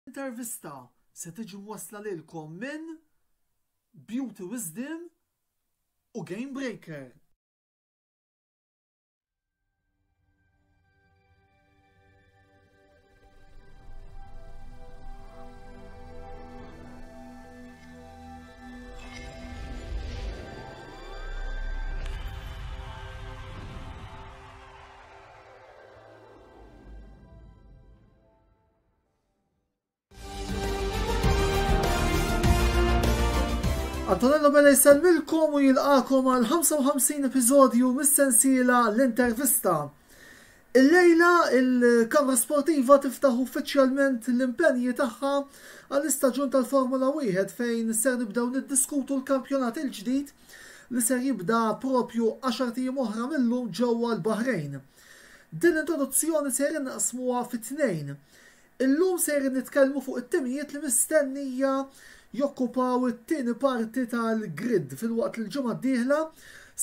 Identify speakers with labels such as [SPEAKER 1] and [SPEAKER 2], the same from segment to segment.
[SPEAKER 1] Intervista se tiġi mwassla lilkom minn Beauty Wisdom u Game Breaker. Antonello Bella jsellmilkom u jilqakom għal 55 episodju mis-sensiela l-intervista. Illejla il-Kamra Sportiva tiftaħ uffiċjalment l-impenji tagħha għall-istaġun tal-Formula 1 fejn ser nibdew niddiskutu l-kampjonat il-ġdid li ser jibda propju 10 ijiem oħra mill-lum ġewwa l-Baħrejn. Din l-introduzzjoni sejrin naqsmuha fi tnejn. Illum sejrin nitkellmu fuq it-timijiet li mistennija jokkupaw it-tieni parti tal-grid filwaqt li l-ġimgħa d-dieħla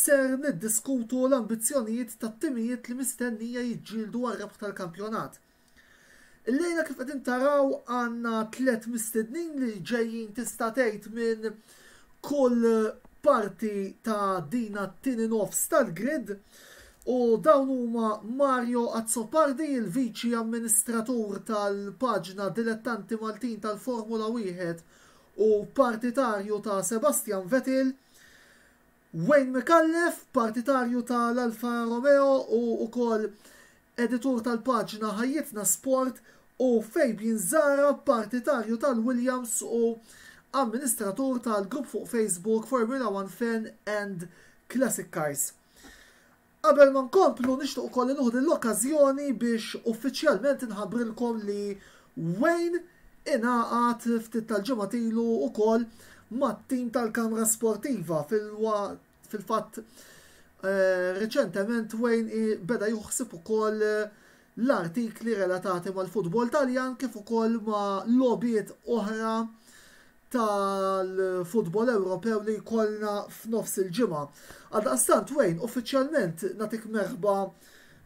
[SPEAKER 1] ser niddiskutu l-ambizzjonijiet tat-timijiet li mistennija jiġġieldu għar-rebħ tal-kampjonat. Illejla kif qegħdin taraw għandna tlett mistednin li ġejjin tista' tgħid minn kull parti ta' dina t-tieni nofs tal-grid u dawn huma Mario Azzopardi, il-Viċi Amministratur tal-paġna Dilettanti Maltin tal-Formula 1 u partitarju ta' Sebastian Vettel, Wayne Micallef, partitarju ta' l-Alfa Romeo u wkoll editur tal-paġna Ħajjitna Sport u Fabian Zahra, partitarju tal-Williams u amministratur tal-grupp fuq Facebook Formula One Fan and Classic Cars. Qabel ma nkomplu nixtieq ukoll li nieħu l-okkażjoni biex uffiċjalment inħabbrilkom li Wayne ingħaqad ftit tal-ġimgħat ilu wkoll mat-tim tal-Kamra Sportiva fil-fatt eh, reċentement Wayne beda juħsib ukoll eh, l-artikli relatati mal-futbol Taljan kif ukoll ma' logħbiet oħra tal-futbol Ewropew li jkollna f'nofs il-ġimgħa. Għaldaqstant Wayne, uffiċjalment nagħtik merħba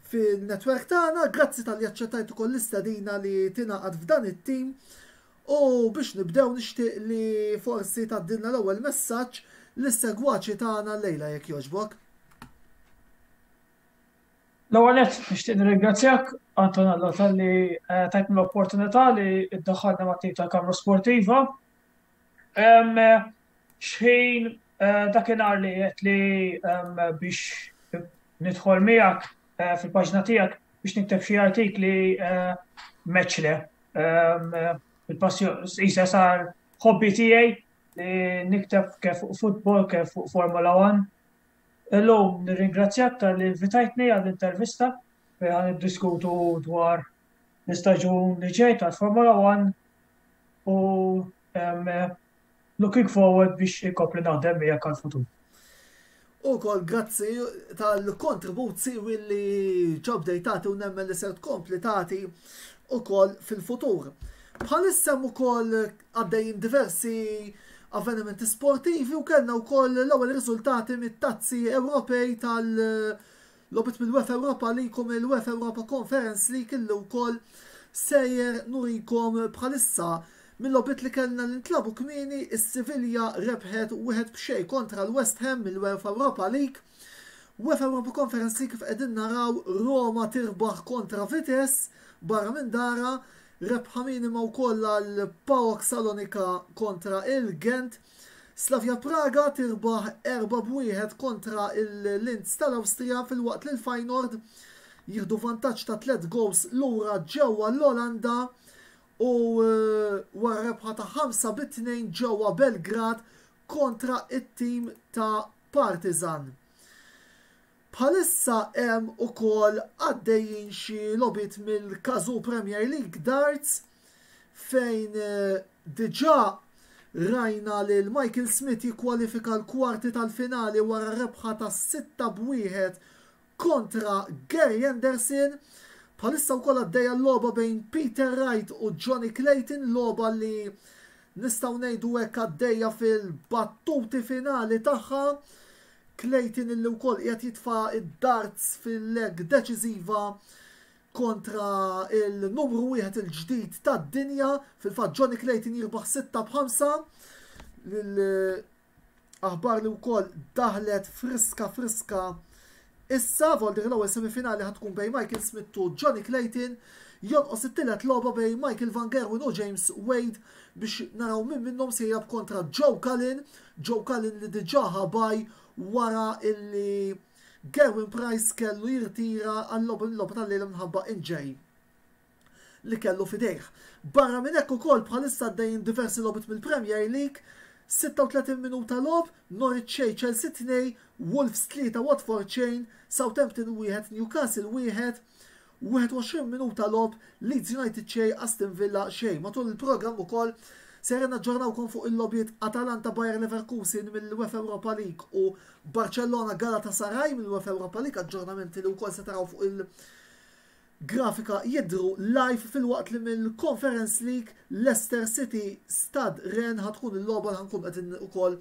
[SPEAKER 1] fil-netwerk tagħna, grazzi talli aċċettajt ukoll l-istedina li tingħaqad f'dan it-tim. U biex nibdew nixtieq li forsi tgħaddilna l-ewwel messaġġ lis-segwaċi tagħna llejla jekk jogħġbok.
[SPEAKER 2] L-ewwel nett nixtieq nirringrazzjak Antonello talli eh, tajtni l-opportunità li ddaħħalna mat-tim tal-Kamra Sportiva. Xħin eh, dakinhar li qed li biex nidħol miegħek eh, fil-paġna tiegħek biex nikteb xi artikli meċle. Il-passjoni isa sar hobby tiegħi li nikteb kif fuq futbol, kif fuq Formula 1. Illum nirringrazzjak talli invitajtni għall-intervista fejn ħa niddiskutu dwar l-istaġun li ġej tal-Formula 1 u looking forward biex inkompli naħdem miegħek għall-futur.
[SPEAKER 1] Ukoll grazzi tal-kontribut siwi li ġa bdejt tagħti u nemmen li ser tkompli tagħti ukoll fil-futur. Bħalissa hemm ukoll għaddejjin diversi avvenimenti sportivi u kellna wkoll l-ewwel riżultati mit-tazzi Ewropej tal-logħbiet mill-UEFA Europa League u mill-UEFA Europa Conference League illi wkoll sejjer nurikom bħalissa. Mill-logħbiet li kellna li ntlabu kmieni, is-Sivilja rebħet wieħed b'xejn kontra l-West Ham mill-UEFA Europa League. UEFA Europa Conference League kif qegħdin naraw Roma tirbaħ kontra Vitesse barra minn dara Rebħa minima wkoll għal PAOK Salonika kontra il-Gent. Slavia Praga tirbaħ 4-1 kontra il-Linz tal-Awstrija filwaqt li l-Feyenoord jieħdu vantaġġ ta' 3 goals lura ġewwa l-Olanda u eh, wara rebħa ta' 5 bi 2 ġewwa Belgrad kontra it-tim ta' Partizan. Bħalissa hemm ukoll għaddejjin xi logħbiet mill-Cazoo Premier League Darts fejn eh, diġà rajna lil Michael Smith jikkwalifika l-kwarti tal-finali wara rebħa ta' 6 b'wieħed kontra Gary Anderson. Bħalissa wkoll għaddejja l-logħba bejn Peter Wright u Johnny Clayton, logħba li nistgħu ngħidu hekk għaddejja fil-battuti finali tagħha. Clayton illi wkoll qiegħed jitfa' d-darts fil-leg deċiżiva. kontra il-numru wieħed il-ġdid tad-dinja, fil-fatt Johnny Clayton jirbaħ 6 b'5 Aħbar li wkoll daħlet friska friska issa, voldir l-ewwel semifinali ħa tkun bejn Michael Smith u Johnny Clayton, jonqos it-tielet logħba bejn Michael Van Gerwen u James Wade biex naraw min minnhom se jilgħab kontra Joe Cullen, Joe Cullen li diġà ħa bye wara illi Gerwyn Price kellu jirtira għal-logħba tal-lejla minħabba injury. li kellu f'idejh. Barra minn hekk ukoll bħalissa għaddejjin diversi logħbiet mill-Premier League, 36 minuta logħob, Norwich xejn Chelsea 2, Wolves 3 Watford xejn, Southampton 1 Newcastle 1, 21 minuta logħob, Leeds United xejn Aston Villa xejn. Matul il-programm ukoll sejrin naġġornawkom fuq il-logħbiet Atalanta Bayer Leverkusen mill-UEFA Europa League u Barcellona Galatasaray mill-UEFA Europa League, aġġornamenti li wkoll se taraw fuq il- Grafika jidhru live filwaqt li mill-Conference League Leicester City Stade Rennes ħa tkun il-logħba li ħankun qegħdin ukoll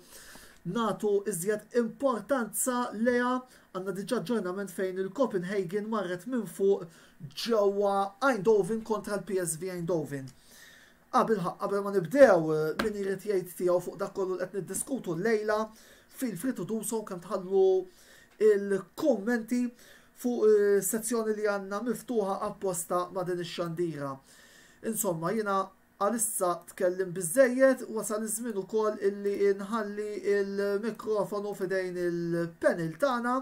[SPEAKER 1] nagħtu iżjed importanza lejha. Għandna diġà aġġornament fejn il-Copenhagen marret minn fuq ġewwa Eindhoven kontra l-PSV Eindhoven. Qabel qabel ma nibdew min irid jgħid tiegħu fuq dak kollu li qed niddiskutu llejla, feel free to do so kemm tħallu il-kummenti fuq sezzjoni li għandna miftuħa apposta ma' din ix-xandira. Insomma, jiena għalissa tkellim biżżejjed, wasal iż-żmien ukoll illi nħalli il-mikrofonu f'idejn il-panel tagħna.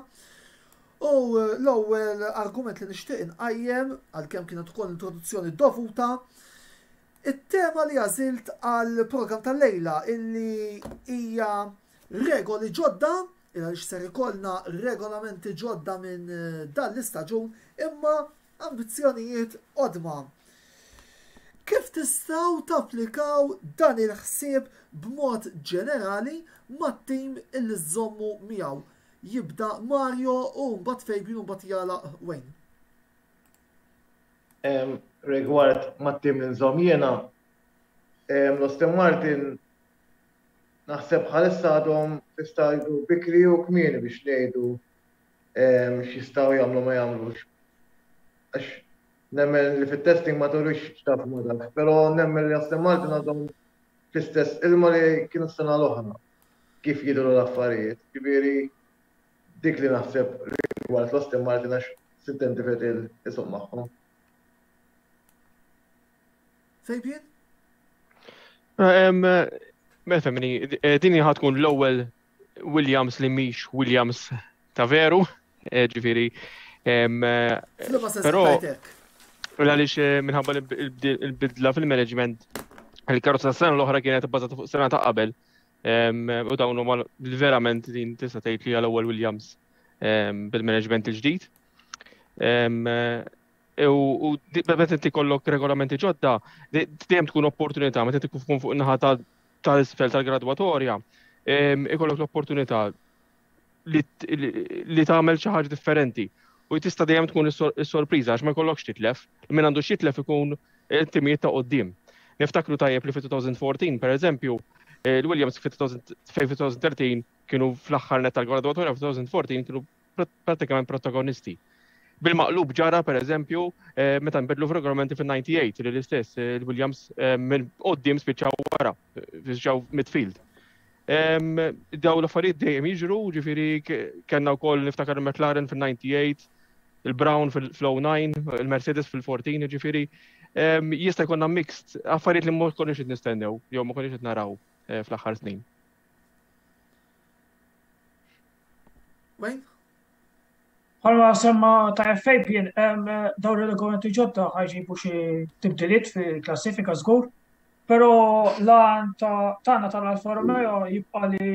[SPEAKER 1] U l-ewwel argument li nixtieq inqajjem, għalkemm kienet ukoll introduzzjoni dovuta, it-tema li għażilt għall-programm tal-lejla illi hija regoli ġodda għaliex ser ikollna regolamenti ġodda minn dan l-istaġun imma ambizzjonijiet qodma. Kif tistgħu tapplikaw dan il-ħsieb b'mod ġenerali mat-tim illi żżommu miegħu? Jibda Mario u mbagħad Fabian u mbagħad jagħlaq Wayne.
[SPEAKER 3] Rigward mat-tim li nżomm jiena, l-Aston Martin Naħseb bħalissa għadhom fi stadju bikri u kmieni biex ngħidu x'jistgħu jagħmlu ma jagħmlux. Għax nemmen li fit-testing ma turix x'taf ma tafx, però nemmen li Aston Martin għadhom fl-istess ilma li kienu s-sena l-oħra kif jidhru l-affarijiet. Ġifieri dik li naħseb rigward l-Aston Martin għax Sintendi Vettel isuq magħhom.
[SPEAKER 1] Fabian?
[SPEAKER 4] Mela femmini, eh, din ħa tkun l-ewwel Williams li mhix Williams ta' veru, eh, ġifieri. Eh,
[SPEAKER 1] però
[SPEAKER 4] għaliex minħabba l-bidla fil-management il-karozza s-sena l-oħra kienet bbażata fuq sena ta' qabel. U dawn huma verament din tista' tgħid li għal-ewwel Williams bil-management il-ġdid. U meta inti kollok regolamenti ġodda, dejjem tkun opportunità, meta inti tkun fuq naħa tal-isfel tal-gradwatorja, ikollok l-opportunità li tagħmel xi ħaġa differenti. U tista' dejjem tkun is-sorpriża għax ma jkollokx titlef. Min għandu xitlef ikun timijiet ta' qoddim. Niftakru tajjeb li fi-2014, per eżempju, l-Williams fi-2013 kienu fl-aħħar net tal-gradwatorja, fi-2014 kienu prattikament protagonisti. Bil-maqlub ġara per eżempju eh, meta nbidlu f'regolamenti fil-98 li l-istess eh, il-Williams eh, minn qoddim spiċċaw wara, spiċċaw midfield. Daw l-affarijiet dejjem jiġru, ġifieri kellna wkoll niftakar il-McLaren fil-98, il-Brown fil-09, il-Mercedes fil-14, ġifieri jista' jkollna mixed affarijiet li ma konniex qed nistennew jew ma konniex qed naraw fl-aħħar snin.
[SPEAKER 1] Wayne?
[SPEAKER 2] Bħalma semma ta' Fabian, dawn ir-regolamenti ġodda ħajġibu xi tibdiliet fil-klassifika żgur, però l-għan tagħna tal-Alfa Romeo jibqa' li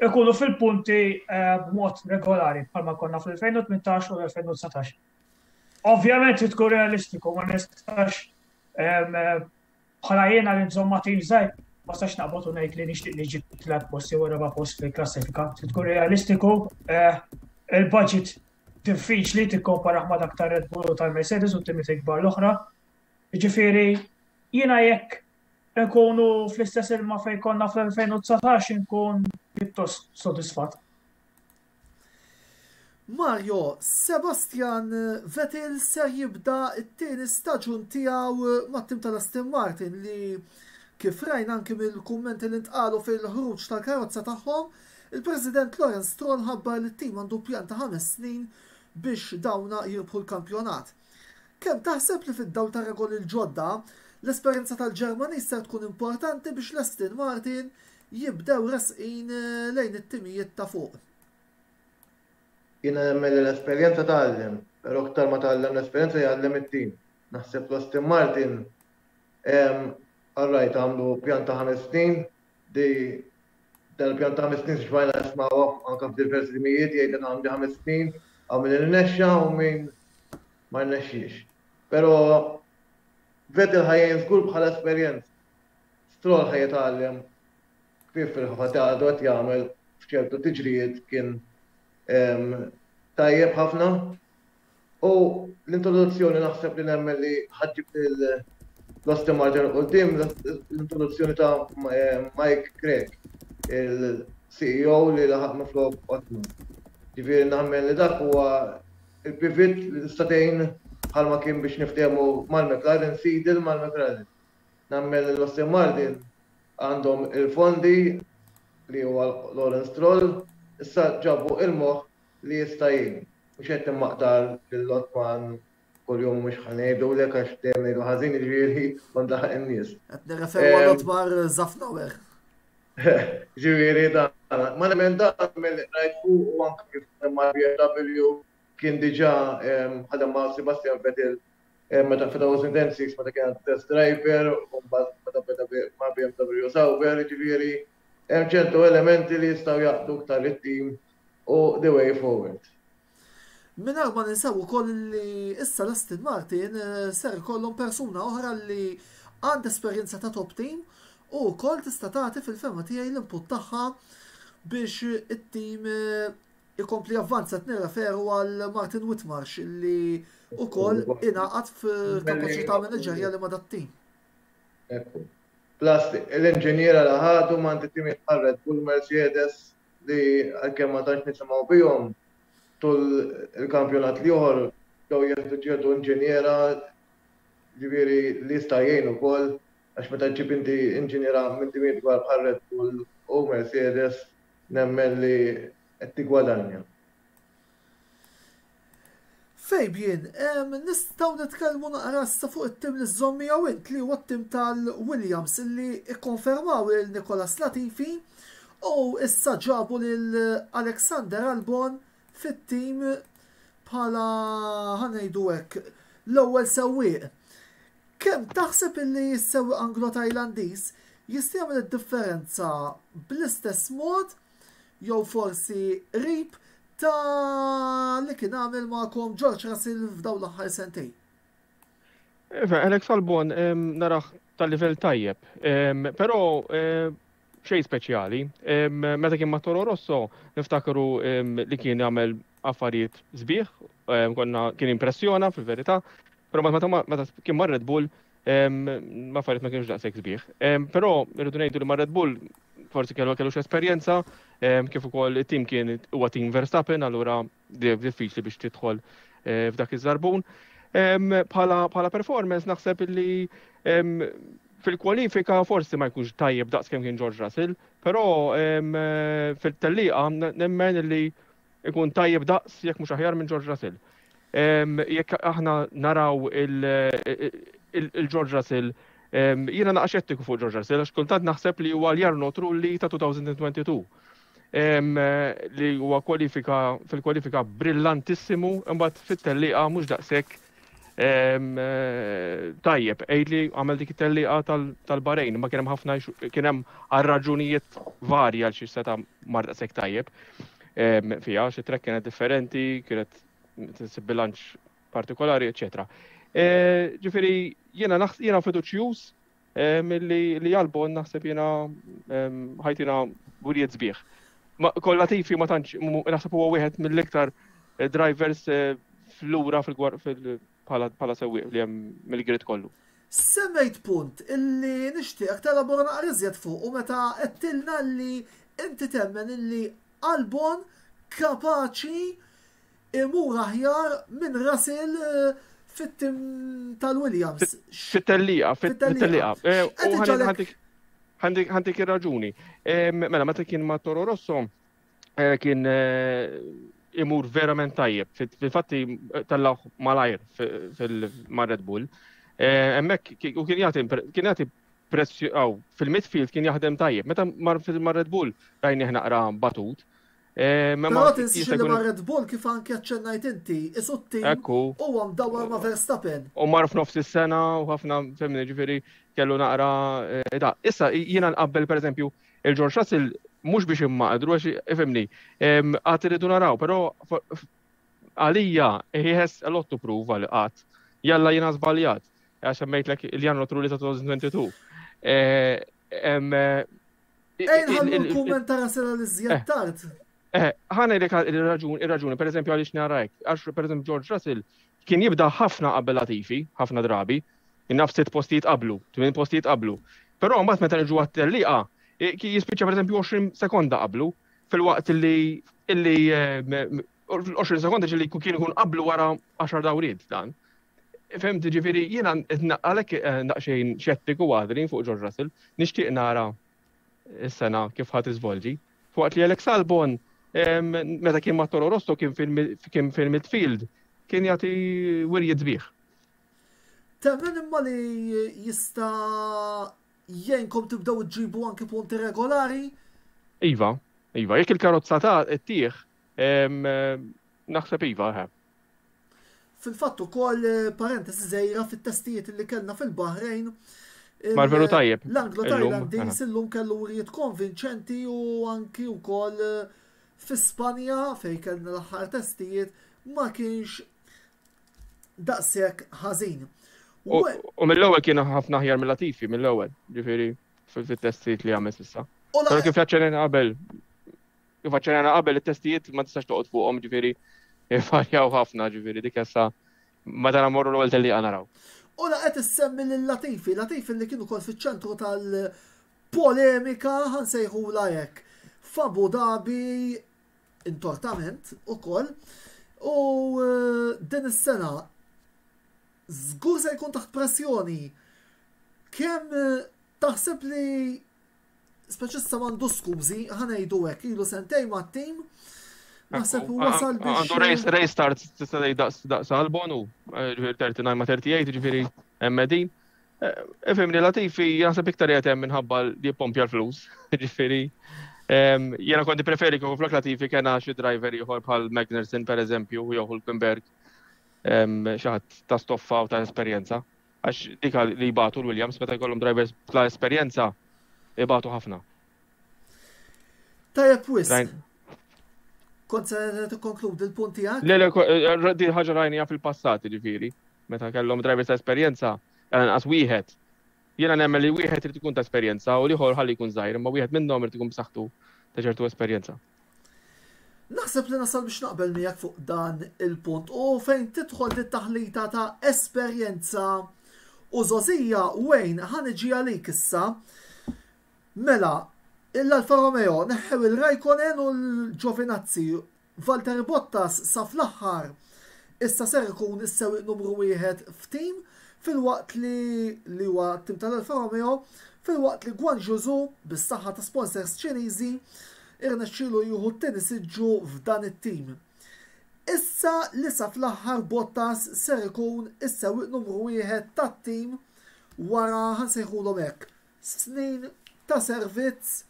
[SPEAKER 2] ikunu fil-punti eh, b'mod regolari bħalma konna fl-2018 u l-2019. Ovvjament tkun realistiku, ma nistax Bħala jiena li nżomm ma' tim żgħir, ma stax naqbad u ngħid li nixtieq niġi tlet post jew raba' post fil-klassifika. Trid tkun realistiku, eh, il-budget diffiċli tikkomparah ma' dak tar-Red Bull u tal-Mercedes u t-timiet il-kbar l-oħra. Jiġifieri jiena jekk nkunu fl-istess ilma fejn konna fl-2019 inkun pjuttost sodisfatt.
[SPEAKER 1] Mario, Sebastian Vettel ser jibda t-tieni staġun tiegħu mat-tim tal-Aston Martin li kif rajna anki mill-kummenti li ntqalu fil-ħruġ tal-karozza tagħhom, il-President Lawrence Stroll ħabbar li t-tim għandu pjan ta' ħames snin biex dawna jirbħu l-kampjonat. Kemm taħseb li fid-dawl tar-regoli l-ġodda, l-esperjenza tal-Ġermaniż ser tkun importanti biex l-Aston Martin jibdew resqin lejn it-timijiet ta' fuq?
[SPEAKER 3] Jiena nemmen li l-esperjenza tgħallem, però aktar ma tgħallem l-esperjenza jgħallem it-tim. Naħseb l-Aston Martin all right għamlu pjan ta' ħames snin, di dan il-pjan ta' ħames snin xbajna nismgħu anke f'diversi timijiet jgħidlek għandi ħames snin, hawn min irnexxa u min ma rnexxiex. Però Vettel ħa jgħin żgur bħala esperjenza. Stroll ħa jitgħallem kif fil-ħafa għadu qed jagħmel f'ċertu tiġrijiet kien tajjeb ħafna. U l-introduzzjoni naħseb li nemmen li ħaġġib l-Aston Martin quddiem l-introduzzjoni ta' Mike Craig, il-CEO li laħaq minflok Otmar. Ġifieri nemmen li dak huwa il-pivot li tista' tgħin bħalma kien biex niftehmu mal-McLaren, Seidl mal-McLaren. Nemmen li l-Aston Martin għandhom il-fondi li huwa Lawrence Stroll, issa ġabu il-moħħ li jista' jgħin. Mhux qed nimmaqdar lil Otman kuljum mhux ħa ngħidulek għax dejjem ngħidu ħażin jiġifieri kont laħaq in-nies.
[SPEAKER 1] Qed nirreferu għal Otmar Szafnauer.
[SPEAKER 3] Ġifieri dan, ma nemmen dan milli rajt fuq u anke kif ma' BMW kien diġà ħadem ma' Sebastian Vettel meta f'2006 meta kien test driver u mbagħad meta beda ma' BMW Sauber, jiġifieri hemm ċertu elementi li jistgħu jaqdu iktar it-tim u the way forward.
[SPEAKER 1] Mingħajr ma ninsew ukoll li issa l-Aston Martin ser ikollhom persuna oħra li għandha esperjenza ta' top team u wkoll tista' tagħti fil-fehma tiegħi l-input tagħha biex it-tim ikompli javvanza qed nirreferu għal Martin Whitmarsh li wkoll ingħaqad f'kapaċità maniġerjali ma' dat-tim.
[SPEAKER 3] Ekku. Plus l-inġiniera li ħadu ma' timijiet bħal Red Bull Mercedes li għalkemm ma tantx nisimgħu bihom tul il-kampjonat l-ieħor bdew jieħdu ċertu inġiniera ġifieri li jista' jgħin ukoll għax meta ġġib inti inġiniera minn timijiet kbar bħal Red Bull u Mercedes Nemmen li qed tiggwadanja.
[SPEAKER 1] Fabian, nistgħu nitkellmu naqra issa fuq it-tim li żżomm miegħu int li huwa t-tim tal-Williams li kkonfermaw lil Nicolas Latifi u issa ġabu lil Alexander Albon fit-tim bħala ħa ngħidu hekk l-ewwel sewwieq. Kemm taħseb illi s-sewwieq Anglo-Tajlandiż jista' jagħmel id-differenza bl-istess mod jew forsi qrib ta' li kien għamel magħkom George Russell f'dawn l-aħħar sentejn?
[SPEAKER 4] Iva, Alex Albon narah ta' livell tajjeb, però xejn speċjali. Meta kien ma' Toro Rosso niftakru li kien jagħmel affarijiet sbieħ, konna kien impressjona fil-verità, però meta kien ma' Red Bull l-affarijiet ma kienux daqshekk sbieħ. Però rridu ngħidu li ma' Red Bull forsi kellu kellux esperjenza, kif ukoll it-tim kien huwa tim Verstappen, allura diffiċli biex tidħol eh, f'dak iż-żarbun. Bħala performance naħseb li fil-kwalifika forsi ma jkunx tajjeb daqs kemm kien George Russell, però fil-tellieqa nemmen li ikun tajjeb daqs jekk mhux aħjar minn George Russell. Jekk aħna naraw il-George Russell, jiena naqa' xettiku fuq George Russell għax kultant naħseb li huwa l-Jarno Trulli ta' 2022. Li huwa kwalifika fil-kwalifika brillantissimu, imbagħad fit-tellieqa mhux daqshekk tajjeb. Għid li għamel dik it-tellieqa tal-Bahrain, ma kien hemm ħafna kien hemm għal raġunijiet varji għal xi seta' mar daqshekk tajjeb fiha, xi track kienet differenti, kienet bilanċ partikolari, eċetera. E, ġifieri jiena jiena fiduċjuż li li Albon naħseb jiena ħajtina wirijiet sbieħ. Kollha tifi ma tantx naħseb huwa wieħed mill-iktar eh, drivers eh, flura bħala sewwieq li hemm mill-grid kollu.
[SPEAKER 1] Semmejt punt illi nixtieqek telabora naqra iżjed fuqu meta għedtilna li inti temmen illi Albon kapaċi imur aħjar minn Russell eh, fit-tim tal-Williams.
[SPEAKER 4] Fit-tellieqa, fit-tellieqa. Eh, ħantik ir-raġuni. Mela, meta kien ma' Toro Rosso, eh, kien imur verament tajjeb. Fil-fatti tellaw malajr ma' Red Bull. Hemmhekk u kien jagħti kien jagħti pressju fil-midfield kien jaħdem tajjeb. Meta mar fil-Red Bull rajnih naqra batut.
[SPEAKER 1] Eh, Però tinsiex li ma' Red Bull kif anke aċċennajt inti, isu t-tim huwa mdawwar ma' Verstappen.
[SPEAKER 4] U mar f'nofs is-sena u ħafna femni ġifieri kellu naqra eh, da. Issa jiena nqabbel pereżempju il-George Russell mhux biex immaqdru għax ifhimni, għad irridu naraw, però għalija he has a lot to prove għal qatt. Jalla jiena żbaljat, għax semmejtlek il-Jan Trulli ta' 2022. Eh,
[SPEAKER 1] Ejn ħallu l-kumment ta' Russell għal iżjed eh. tard.
[SPEAKER 4] Eh, ħa ngħidlek ir-raġuni, ir-raġuni, pereżempju għaliex nara hekk, għax pereżempju George Russell kien jibda ħafna qabel Latifi, ħafna drabi, naf sitt postijiet qablu, tmien postijiet qablu. Però mbagħad meta niġu għat-tellieqa, jispiċċa pereżempju 20 sekonda qablu, filwaqt li illi 20 eh, sekonda ġili kien ikun qablu wara 10 dawriet dan. Fehmt, ġifieri jiena għalhekk eh, daqsxejn xettiku għadri fuq George Russell, nixtieq nara s-sena kif ħadd iżvolġi. Fuqat li Alex Albon meta kien ma' Toro Rosso kien fil-midfield kien jagħti wirjiet sbieħ.
[SPEAKER 1] Temmen imma li jista' jgħinkom tibdew iġġibu anki punti regolari?
[SPEAKER 4] Iva, iva, jekk il-karozza ta' tieħ, naħseb iva, eh.
[SPEAKER 1] Fil-fatt ukoll parentesi żgħira fit-testijiet li kellna fil-Bahrejn.
[SPEAKER 4] Mar veru tajjeb.
[SPEAKER 1] L-Anglo Tajlandiż illum kellu wrijiet konvinċenti u anki wkoll eh, fi Spanja fejn kellna l-aħħar testijiet ma kienx daqshekk ħażin.
[SPEAKER 4] U mill-ewwel kien ħafna aħjar mill-Latifi mill-ewwel, ġifieri fil-testijiet li għamel s'issa. Però kif aċċenajna qabel, Kif aċċenajna qabel it-testijiet ma tistax toqgħod fuqhom ġifieri varjaw ħafna ġifieri dik issa meta namorru l-ewwel tellieqa naraw.
[SPEAKER 1] U la qed issemmi lil Latifi, Latifi li kien ukoll fiċ-ċentru tal-polemika ħansejħula hekk. F'Abu Dhabi intortament ukoll u eh, din is-sena żgur se jkun taħt pressjoni. Kemm eh, taħseb li Speċi issa m'għandu skużi, ħa ngħidu hekk, ilu sentejn mat-tim. Naħseb wasal
[SPEAKER 4] biex. Għandu race race start tista' tgħid daqs daqs Albon u eh, ġifieri 39 ma' 38 ġifieri hemm qegħdin. Eh, ifhimni Latifi naħseb iktar qiegħed hemm minħabba li jippompja l-flus. Ġifieri ehm, jiena konti preferi kieku flok Latifi kena xi driver ieħor bħal Magnussen pereżempju jew Hulkenberg ehm, xi ħadd ta' stoffa u ta' esperjenza. Għax dik li jbatu l-Williams meta jkollhom drivers bla esperjenza ibatu ħafna.
[SPEAKER 1] Tajjeb wisq. Kont se tikkonkludi l-punt tiegħek?
[SPEAKER 4] Le, le, eh, din ħaġa rajnija fil-passat, ġifieri. Meta kellhom drivers ta' esperjenza, għal wieħed. Jiena nemmen li wieħed irid ikun ta' esperjenza u l-ieħor ħalli jkun żgħir, imma wieħed minnhom irid ikun b'saħħtu ta' ċertu esperjenza.
[SPEAKER 1] Naħseb li nasal biex naqbel miegħek fuq dan il-punt u fejn tidħol dit taħlita ta' esperjenza u żgħożija Wayne ħa niġi għalik issa. Mela, l-Alfa Romeo neħħew il-Raikkonen u l-Giovinazzi Valtteri Bottas sa fl-aħħar issa ser ikun is-sewwieq numru wieħed f'tim filwaqt li li huwa t-tim tal-Alfa Romeo filwaqt li Guanyu Zhou bis-saħħa ta' sponsors Ċiniżi irnexxielu jieħu t-tieni siġġu f'dan it-tim. Issa li sa fl-aħħar Bottas ser ikun is-sewwieq numru wieħed tat-tim wara ħa nsejħulhom hekk snin ta' servizz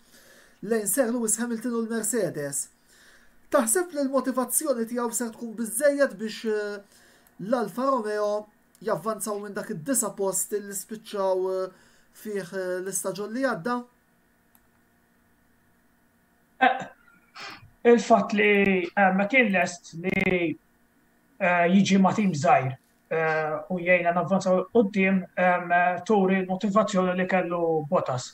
[SPEAKER 1] lejn Sir Lewis Hamilton u l-Mercedes. Taħseb li l-motivazzjoni tiegħu ser tkun biżżejjed biex eh, l-Alfa Romeo javvanzaw minn dak id-disa post li spiċċaw eh, fih eh, l-istaġun li għadda?
[SPEAKER 2] Il-fatt li ma kien lest li jiġi ma' tim żgħir u jgħinna navvanzaw quddiem turi l-motivazzjoni li kellu Bottas.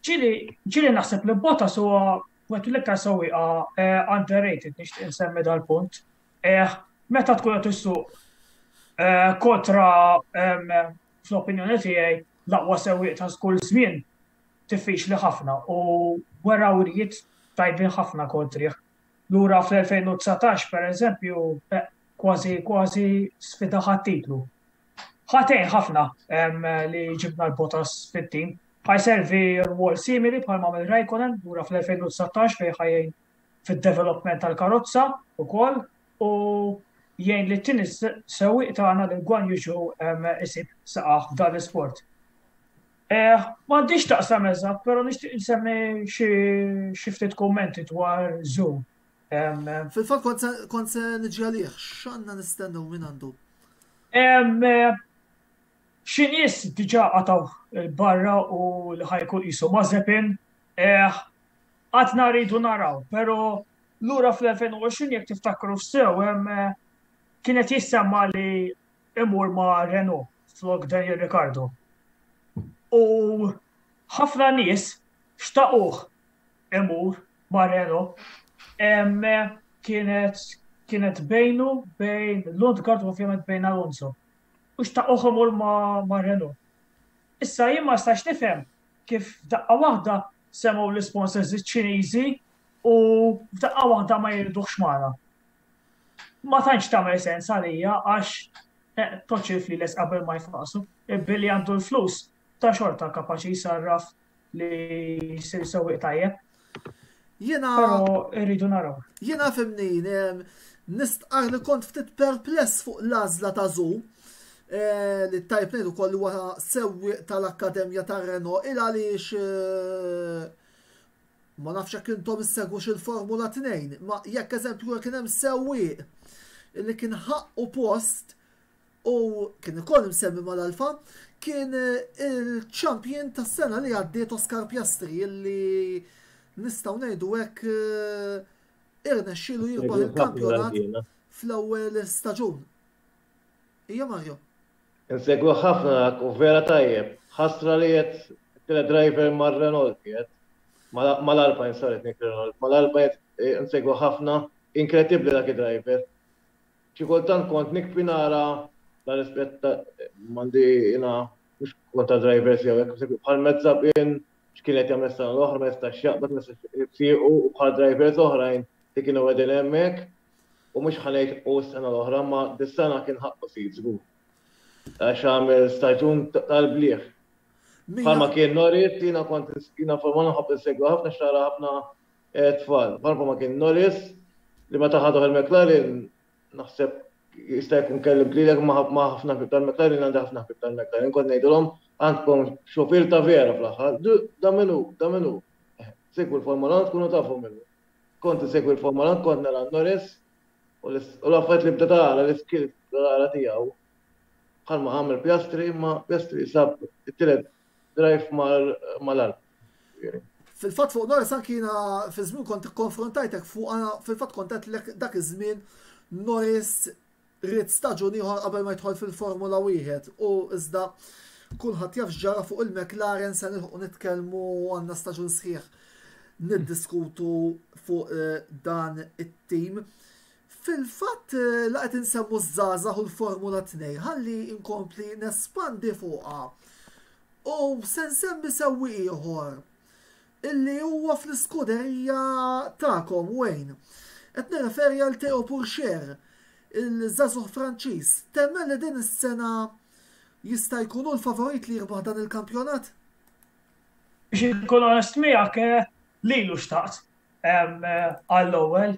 [SPEAKER 2] Ġieli naħseb li Bottas huwa wieħed mill-iktar sewwieqa underrated nixtieq insemmi dal-punt. Meta tkun qed issuq kontra fl-opinjoni tiegħi l-aqwa sewwieq ta' kull żmien diffiċli ħafna u wera wrijiet tajbin ħafna kontrih. Lura fl-2019 pereżempju eh, kważi kważi sfida ħat-titlu. Ħatejn ħafna li ġibna l-Bottas fit-tim. Ħajservi rwol simili bħal ma' Raikkonen lura fl-2019 fejn ħajjin fid-development tal-karozza ukoll u jgħin li t-tieni sewwieq tagħna li Guan Yu Zhou isib saqah f'dan l-isport. Eh, m'għandix taqsam eżatt, però nixtieq insemmi xi ftit kummenti dwar Zhou.
[SPEAKER 1] Fil-fatt kont se niġi għalih, x'għandna nistennew minn għandu?
[SPEAKER 2] Xi nies diġà qatgħu barra u li ħajkun qisu Mazepin. Eh, għadna rridu naraw, però lura fl-2020 jekk tiftakru sew hemm kienet jissemma li imur ma' Renault flok Daniel Ricciardo. U ħafna nies xtaquh imur ma' Renault. Kienet kienet bejnu bejn Lundgaard u ovvjament bejn Alonso. U xtaquh imur ma', ma Renault. Issa jien ma stax nifhem kif daqqa waħda semgħu l-isponsors iċ-Ċiniżi u f'daqqa waħda ma jriduhx magħna. Ma tantx tagħmel sens għalija għax eh, toċ il-flieles qabel ma jfaqsu. Billi għandu l-flus ta' xorta kapaċi jsarraf li jsir sewwieq tajjeb.
[SPEAKER 1] Jiena
[SPEAKER 2] Però rridu naraw.
[SPEAKER 1] Jiena fimni, nistqar li kont ftit perpless fuq l-għażla ta' Zu eh, li tajb ngħidu kollu huwa sewwieq tal-Akkademja ta' Renault il għaliex eh, ma nafx jekk intom issegwux il-Formula 2, ma jekk eżempju kien hemm sewwieq li kien ħaqqu post u kien ukoll imsemmi mal-Alfa, kien il-champion tas-sena li għaddiet Oscar Piastri illi nistgħu ngħidu hekk eh, irnexxielu jirbaħ il-kampjonat fl-ewwel staġun. Ija Mario.
[SPEAKER 3] Insegwu ħafna dak u vera tajjeb. Ħasra li qed tele driver mar-Renault qiegħed. Mal-Alpine, sorry, Nick Renault. Mal-Alpine eh, insegwu ħafna. Inkredibbli dak id-driver. Xi kultant kont nikbi nara la rispett m'għandi jiena mhux kontra drivers jew hekk, bħal Mezzabin x'kien qed jagħmel sena l-oħra ma jistax jaqbad ma jistax siequ u bħal drivers oħrajn li kienu qegħdin hemmhekk u mhux ħa ngħid u s-sena l-oħra ma dis-sena kien ħaqqu seat żgur. Għax għamel staġun tal-bliħ. Bħalma kien Norris, jiena kont jiena Formula nħobb insegwi ħafna xara ħafna eh, tfal. Bħalma kien Norris li meta ħaduh il-McLaren naħseb jista' jkun kellim lilek ma' ħafna ħbieb tal-McLaren għandi ħafna ħbieb tal-McLaren kont ngħidilhom għandkom xufier ta' vera fl-aħħar. Da minnu, da minnu. Eh, segwu l-Formula tkunu tafu minnu. Kont insegwi l-Formula kont nara Norris u l-affarijiet li bda tara l-iskills tara tiegħu. Bħalma għamel Piastri, ma Piastri sab it-tielet drive mal-art.
[SPEAKER 1] Fil-fatt fuq Norris anki jiena fi żmien kont ikkonfrontajtek fuq għana fil-fatt kont għedtlek dak iż-żmien Norris ried staġun ieħor qabel ma jidħol fil-Formula wieħed u iżda kulħadd jaf x'ġara fuq il-McLaren se nilħqu nitkellmu għandna staġun sħiħ niddiskutu fuq eh, dan it-tim. Fil-fatt eh, la qed insemmu ż-żgħażagħ u l-Formula 2 ħalli inkompli nespandi fuqha. U se nsemmi sewwieq ieħor illi huwa fl-iskuderija tagħkom Wayne. Qed nirreferi għal Theo Pourchaire, il-żagħżugħ Franċiż. Temmen li din is-sena jista' jkun hu l-favorit li jirbaħ dan il-kampjonat?
[SPEAKER 2] Biex inkun onest miegħek, eh, lilu xtaqt eh, għall-ewwel,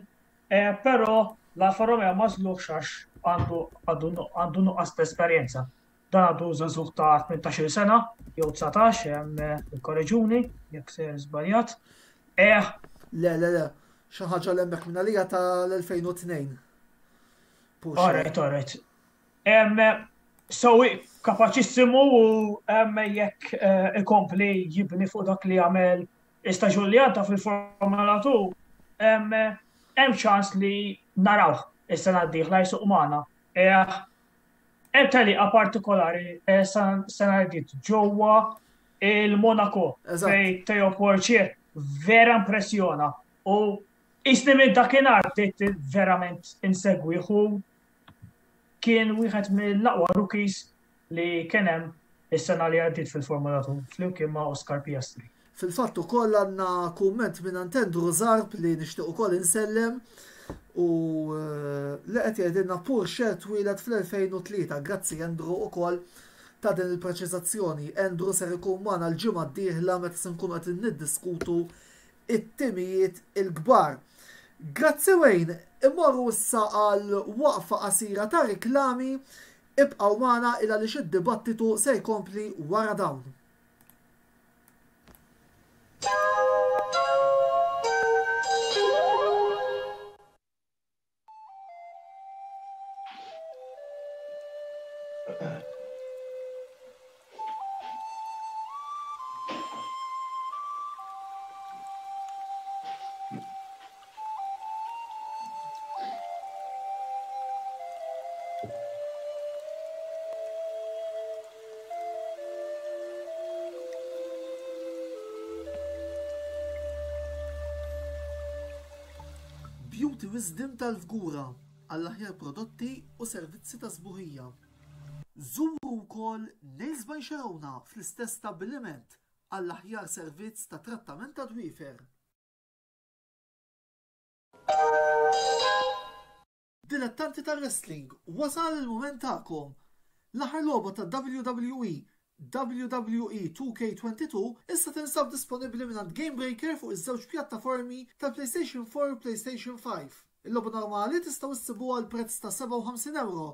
[SPEAKER 2] eh, però l-Alfa Romeo ma żluħx għax għandu nuqqas ta' esperjenza. Dan għadu żagħżugħ ta' 18-il sena jew 19, hemm ikkoreġuni jekk se żbaljat.
[SPEAKER 1] Eh. Le, le, le, xi ħaġa l hemmhekk minn għalija tal-2002.
[SPEAKER 2] Alright, alright. So, kapaċissimu u jekk eh, ikompli jibni fuq dak li għamel istaġun li għadda fil-Formula 2, hemm ċans li narawh is-sena d-dieħla jsuq magħna. Eh, Hemm tellieqa partikolari eh, sena li ġewwa il-Monaco fej Theo Portier vera impressjona u isni minn dakinhar bdejt verament insegwih u kien wieħed mill-aqwa rookies li kien hemm is-sena li għaddiet fil-Formula 2 flimkien ma' Oscar Piastri.
[SPEAKER 1] Fil-fatt ukoll għandna kumment minn Andrew Zarb li nixtieq ukoll insellem u eh, li qed jgħidilna Porsche twieled fl-2003. Grazzi Andrew ukoll ta' din il-preċiżazzjoni. Andrew ser ikun magħna l-ġimgħa d-dieħla meta se nkunu qed niddiskutu it-timijiet il-kbar. Grazzi Wayne, immorru issa għal waqfa qasira ta' riklami, ibqgħu magħna il għaliex id-dibattitu se jkompli wara dawn. Beauty Wisdom tal-Fgura għall-aħjar prodotti u servizzi ta' sbuħija. Żuru wkoll Nails by Sharona fl-istess stabbiliment għall-aħjar servizz ta' trattament ta' dwiefer. Dilettanti tar-wrestling, wasal il-mument tagħkom! L-aħħar logħba ta' WWE, WWE 2K22, issa tinsab disponibbli mingħand GameBreaker fuq iż-żewġ pjattaformi tal-PlayStation 4 u PlayStation 5. Il-logħba normali tistgħu issibuha għal prezz ta' 57 ewro,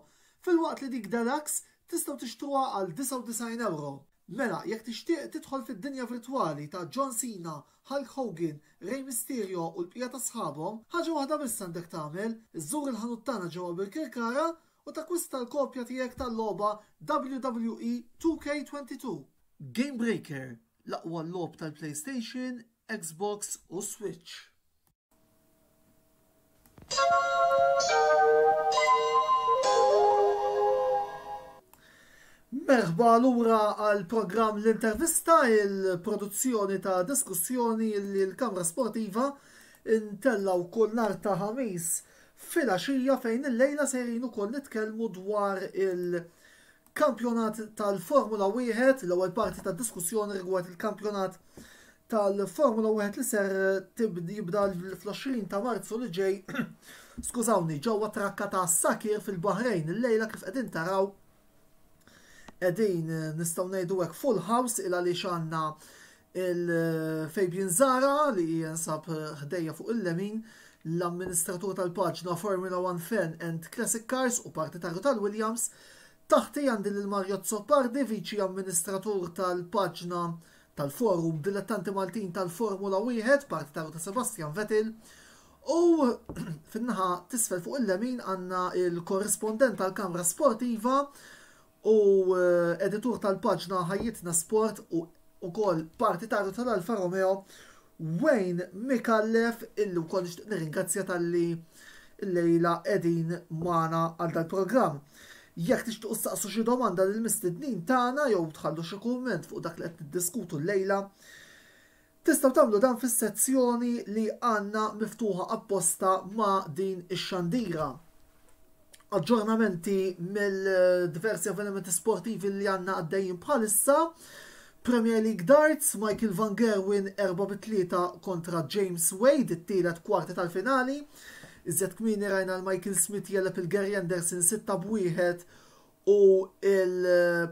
[SPEAKER 1] filwaqt li dik Deluxe tistgħu tixtruha għal 99 ewro. Mela, jekk tixtieq tidħol fid-dinja virtwali ta' John Cena, Hulk Hogan, Rey Mysterio u l-bqija ta' sħabhom, ħaġa waħda biss għandek tagħmel, iżżur il-ħanut tagħna ġewwa Birkirkara u takkwista l-kopja tiegħek tal-logħba WWE 2K22. Game Breaker, l-aqwa logħob tal-PlayStation, Xbox u Switch. Merħba lura għal programm l-intervista, il-produzzjoni ta' diskussjoni li l-Kamra Sportiva intellaw kull nar ta' ħamis fil-għaxija fejn il-lejla sejrin ukoll nitkellmu dwar il-kampjonat tal-Formula 1, l-ewwel parti ta' diskussjoni rigward il-kampjonat tal-Formula 1 li ser jibda fl-20 ta' Marzu li ġej, skużawni, ġewwa trakka ta' Sakir fil-Bahrejn illejla kif qegħdin taraw qegħdin nistgħu ngħidu hekk full house il għaliex għandna il-Fabian Zara li jinsab ħdejja fuq il-lemin l-amministratur tal-paġna Formula 1 Fan and Classic Cars u partitarju tal-Williams. Taħti għandi lil Mario Zoppardi, viċi amministratur tal-paġna tal-Forum Dilettanti Maltin tal-Formula 1, partitarju ta' Sebastian Vettel, u fin-naħa tisfel fuq il-lemin għandna il-korrispondent tal-Kamra Sportiva u eh, editur tal-paġna Ħajjitna Sport u ukoll partitarju tal-Alfa Romeo Wayne Micallef illi wkoll nixtieq nirringrazzja talli llejla qegħdin magħna għal dal-programm. Jekk tixtiequ ssaqsu xi domanda lill-mistednin tagħna jew tħallu xi kumment fuq dak li qed niddiskutu llejla, tistgħu tagħmlu dan fis-sezzjoni li għandna miftuħa apposta ma' din ix-xandira. Aġġornamenti mill-diversi avvenimenti sportivi li għandna għaddejjin bħalissa. Premier League Darts, Michael Van Gerwen 4-3 kontra James Wade, it-tielet kwarti tal-finali. Iżjed kmieni rajna l-Michael Smith jeleb il-Gary Anderson 6 b'wieħed u il-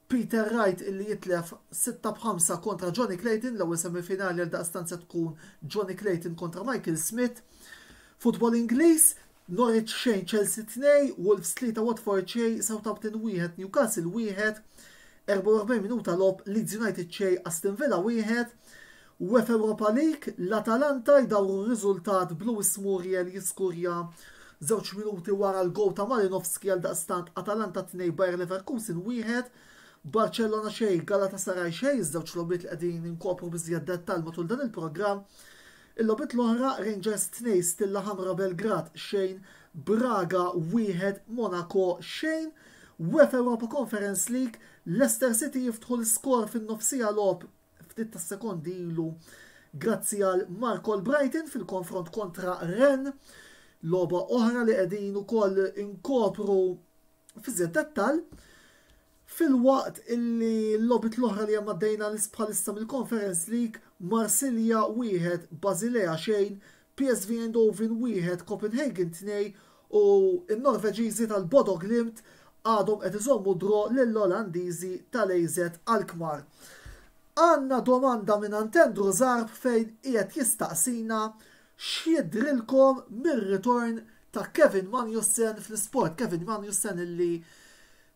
[SPEAKER 1] Peter Wright illi jitlef 6 b'5 kontra Johnny Clayton, l-ewwel semifinali għal daqstant se tkun Johnny Clayton kontra Michael Smith. Futbol Ingliż, Norwich xejn Chelsea 2, Wolves 3 Watford xejn, Southampton 1 Newcastle 1, 44 minuta logħob Leeds United xejn Aston Villa 1, UEFA Europa League, l-Atalanta jdawru r-riżultat b'Luis Muriel jiskurja żewġ minuti wara l-gowl ta' Malinovskyi għaldaqstant Atalanta 2 Bayer Leverkusen 1, Barcellona xejn Galatasaray xejn, iż-żewġ logħbiet li qegħdin inkopru b'iżjed dettall matul dan il-programm. Il-logħbiet l-oħra Rangers 2 Stilla Ħamra Belgrad xejn, Braga 1 Monaco xejn. UEFA Europa Conference League, Leicester City jiftħu l-iskor fin-nofsija logħob ftit tas-sekondi ilu grazzi għal Mark Albrighton fil-konfront kontra Rennes, logħba oħra li qegħdin ukoll inkopru fi żjed dettall. Filwaqt illi l-logħbiet l-oħra li hemm għaddejna bħalissa mill-Conference League, Marsilja wieħed, Basilea xejn, PSV Eindhoven wieħed, Copenhagen tnej u n-Norveġiżi tal-Bodo Glimt għadhom qed iżommu draw lill-Olandiżi tal-AZ Alkmaar. Għandna domanda mingħand Andrew Zarb fejn qiegħed jistaqsina x'jidhrilkom mir-ritorn ta' Kevin Magnussen fl-isport. Kevin Magnussen illi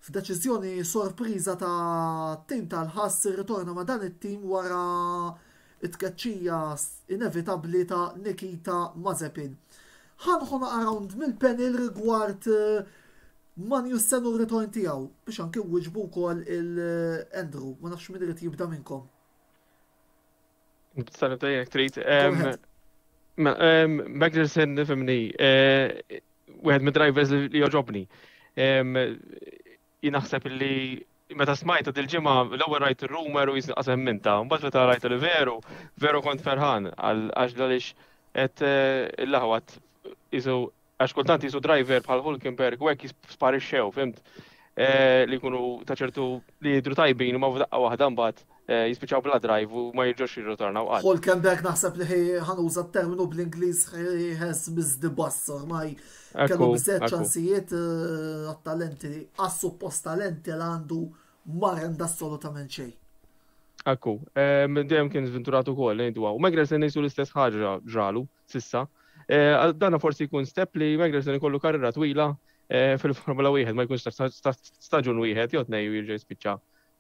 [SPEAKER 1] f'deċiżjoni sorpriża ta' tim tal-Haas irritorna ma' dan it-tim wara t-tkeċċija inevitabbli ta' Nikita Mazepin. Ħa nħu naqra round mill-panel rigward Magnussen u r-ritorn tiegħu biex anki wieġbu wkoll il-Andrew. Ma nafx min irid jibda minnkom.
[SPEAKER 4] Tista' nibda jekk trid. Magnussen nifhimni, eh, wieħed mid-drivers li joġobni. Jien naħseb li meta smajta dil-ġimgħa l-ewwel rajt ir-rumor u jisni qasem minta, mbagħad meta rajt li veru, veru kont ferħan għax għaliex qed eh, il-laħwat isu għax kultant jisu driver bħal Hulkenberg u hekk jisparixxew, fimt? Eh, li jkunu ta' ċertu li jidru tajbin u ma f'daqqa waħda mbagħad eh, jispiċċaw bla drive u ma jirġgħux jirritornaw qatt.
[SPEAKER 1] Hulkenberg naħseb li ħanuża t-terminu bl-Ingliż he has missed the bus ormai kellu biżżejjed ċansijiet eh, għat-talenti għas-suppost talenti li għandu ma renda assolutament xejn.
[SPEAKER 4] Ekku, dejjem kien żventurat ukoll ngħidu. U Magnussen ngħidu l-istess ħaġa ġralu sissa. Dana forsi jkun step li Magnussen ikollu karriera twila eh, fil-Formula 1 ma jkunx staġun wieħed jew tnej u jirġa' jispiċċa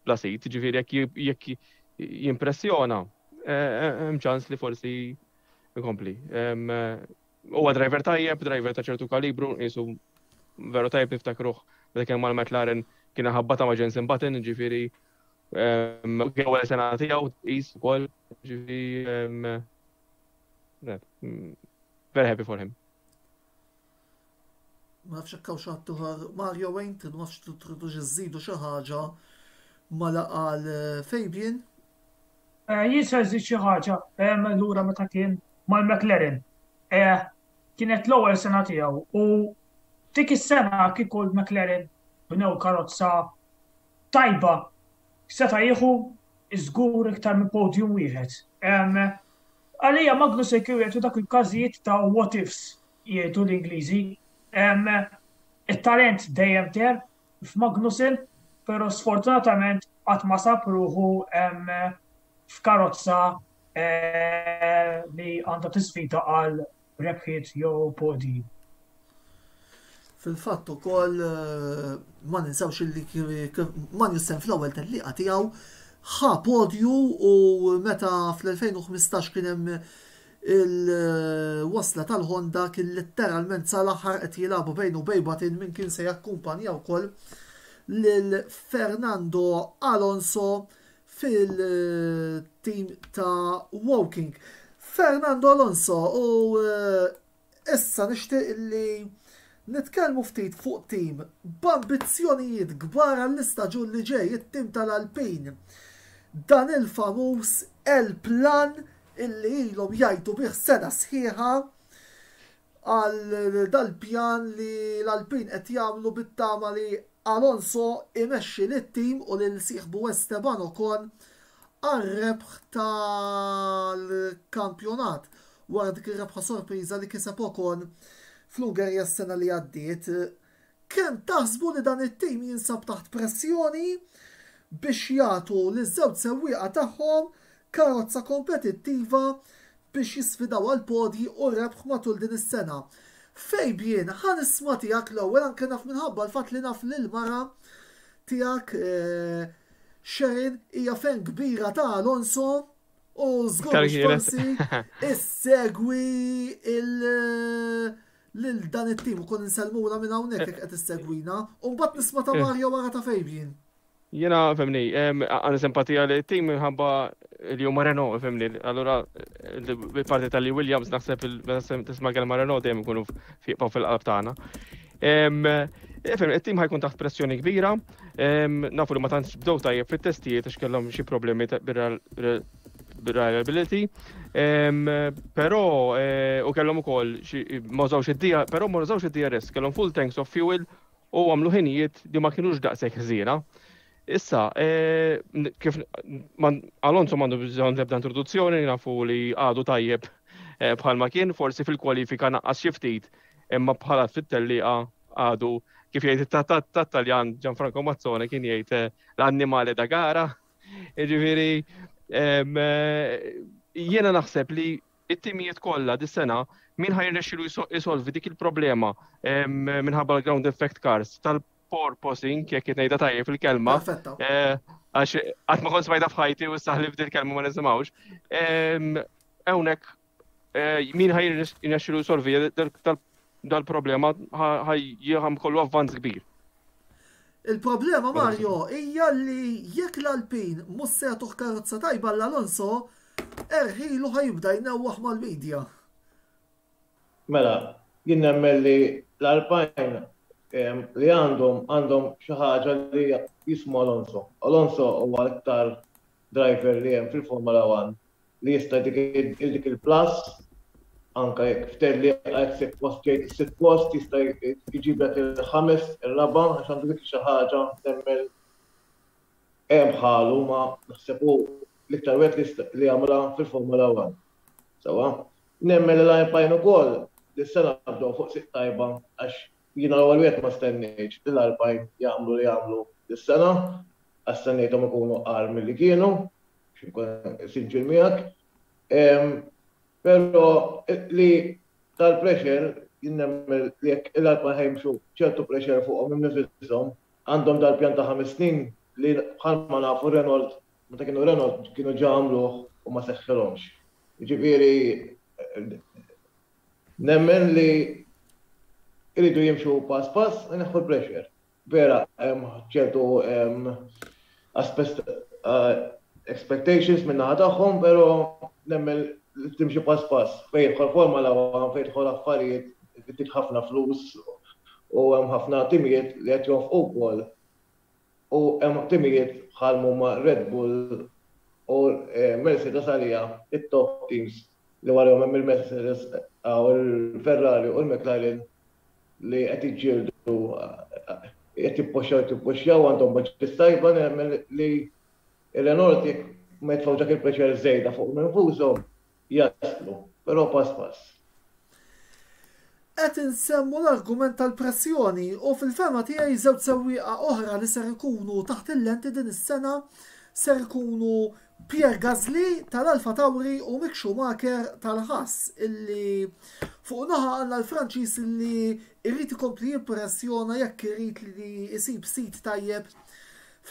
[SPEAKER 4] bla sit, ġifieri jekk jimpressjona eh, eh, hemm ċans li forsi jkompli. Huwa driver tajjeb, driver ta' ċertu kalibru, jisu veru tajjeb niftakruh meta kien mal-McLaren kien ħabbata ma' Jensen Button, ġifieri kien ewwel sena tiegħu tqis ukoll, ġifieri very happy for him.
[SPEAKER 1] Ma nafx hekk hawn xi ħadd ieħor Mario Wayne, ma nafx tridux iżżidu xi ħaġa ma laqal eh, Fabian.
[SPEAKER 2] Eh, jien se nżid xi ħaġa lura meta kien mal-McLaren. Eh, kienet l-ewwel sena tiegħu u dik is-sena kieku l-McLaren bnew karozza tajba seta' jieħu żgur iktar minn podium wieħed. Għalija Magnussen kien wieħed dak il-każijiet ta' what ifs jgħidu l-Ingliżi. It-talent dejjem ter f'Magnussen, però sfortunatament qatt ma sab ruħu f'karozza eh, li għandha tisfida għal rebħiet jew podji.
[SPEAKER 1] Fil-fatt ukoll eh, ma ninsewx li Magnussen fl-ewwel tellieqa tiegħu ħa podju u meta fl-2015 kien hemm Il-wasla tal-Honda kien letteralment sal-aħħar qed jilagħbu bejn u bejn Button min kien se jakkumpanja wkoll lil Fernando Alonso fil-tim ta' Woking. Fernando Alonso u eh, issa nixtieq li nitkellmu ftit fuq tim b'ambizzjonijiet kbar għall-istaġun li ġej, it-tim tal-Alpine. Dan il-famuż El Plan illi ilhom jgħajtu bih sena sħiħa għal dal-pjan li l-Alpine qed jagħmlu bit-tama li Alonso imexxi lit-tim u lil sieħbu Esteban Ocon għar-rebħ tal-kampjonat wara dik ir-rebħa sorpriża li kiseb Ocon fl-Ungerija s-sena li għaddiet. Kemm taħsbu li dan it-tim jinsab taħt pressjoni biex jagħtu liż-żewġ sewwieqa tagħhom karozza kompetittiva biex jisfidaw għall-podji u rebħ matul din is-sena? Fabian, ħa nisma' tiegħek l-ewwel anke naf minħabba l-fatt li naf li l-mara tiegħek eh, Sharon hija fan kbira ta' Alonso u żgur forsi issegwi il- lil dan it-tim ukoll insellmulha minn hawnhekk jekk qed issegwina, u mbagħad nisma' ta' Mario wara ta' Fabian.
[SPEAKER 4] Jiena femni, għandi simpatija li t-tim minħabba li huma Renault, femni, allura il-parti tal-li Williams naħseb tisma' kelma Renault dejjem ikunu fiqpaw fil-qalb tagħna. Femni, it-tim ħajkun taħt pressjoni kbira, nafu li ma tantx bdew tajjeb fit-testijiet għax kellhom xi problemi reliability, però eh, u kellhom ukoll ma użawx id-DR, però ma użawx id-DRS, kellhom full tanks of fuel u għamlu ħinijiet li ma kienux daqshekk ħżiena. Issa, eh, kif Alonso m'għandu bżonn l-ebda introduzzjoni, nafu li għadu tajjeb eh, bħalma kien, forsi fil-kwalifika naqqas xi ftit, imma bħala fit-tellieqa għadu kif jgħid tat-Taljan Gianfranco Mazzone kien jgħid eh, l-annimale da gara. Ġifieri jiena naħseb li it-timijiet kollha dis-sena min ħa jirnexxilu jsolvi dik il-problema minħabba l-ground effect cars tal-porpoising, jekk qed ngħidha tajjeb il-kelma. Eh, għax qatt ma kont smajta f'ħajti u issa ħlif dil-kelma ma nisimgħux. Hawnhekk eh, min ħa jirnexxilu jsolvi dal-problema ħaj kollu avvanz kbir.
[SPEAKER 1] Il-problema Mario hija li jekk l-Alpine mhux se jagħtuh karozza tajba l-Alonso, erħilu ħa jibda jnewwaħ mal-media.
[SPEAKER 3] Mela, jien nemmen li l-Alpine li għandhom għandhom xi ħaġa li jismu Alonso. Alonso huwa l-iktar driver li hemm fil-Formula 1 li jista' jtik dik il-plus anke jekk f'tellieqa jekk sitt post ġejt is-sitt post jista' jġiblek il-ħames, ir-raba' għax għandu dik xi ħaġa nemmen hemm bħalu ma naħseb hu l-iktar wieħed li jagħmilha fil-Formula 1. Sewwa. Nemmen li l-Alpine ukoll dis-sena bdew fuq sieq tajba għax jiena l-ewwel wieħed ma stennejtx li l-Alpine jagħmlu li għamlu dis-sena għax stennejthom ikunu agħar milli kienu. Biex inkun sinċier miegħek. Però li tal-pressure jien nemmen li jekk il-Alpine ħajmxu ċertu pressure fuqhom innifishom, għandhom dal-pjan ta' ħames snin li bħalma nafu Renault meta kienu Renault kienu ġa għamluh u ma seħħilhomx. Jiġifieri nemmen li jridu jimxu pass pass u jneħħu l-pressure. Vera hemm ċertu expectations min-naħa tagħhom, però nemmen li timxi pass pass. Fejn jidħol Formula One, fejn jidħol affarijiet, trid ħafna flus u hemm ħafna timijiet li qed jonfqu wkoll u hemm timijiet bħal huma Red Bull u Mercedes għalija it-top teams li warahom hemm il-Mercedes u l-Ferrari u l-McLaren li qed jiġġieldu qed jippoxxjaw qed jippoxxjaw għandhom budgets tajba nemmen li r-Renault jekk ma jitfgħux dak il-pressure żejda fuqhom infushom jaslu, però pass pass.
[SPEAKER 1] Qed insemmu l-argument tal-pressjoni u fil-fehma tiegħi żewġ sewwieqa oħra li ser ikunu taħt il-lenti din is-sena ser ikunu Pierre Gasly tal-Alfa Tauri u Mick Schumacher tal-Haas illi fuq naħa għandna l-Franċiż illi jrid ikompli jimpressjona jekk irid li jsib sit tajjeb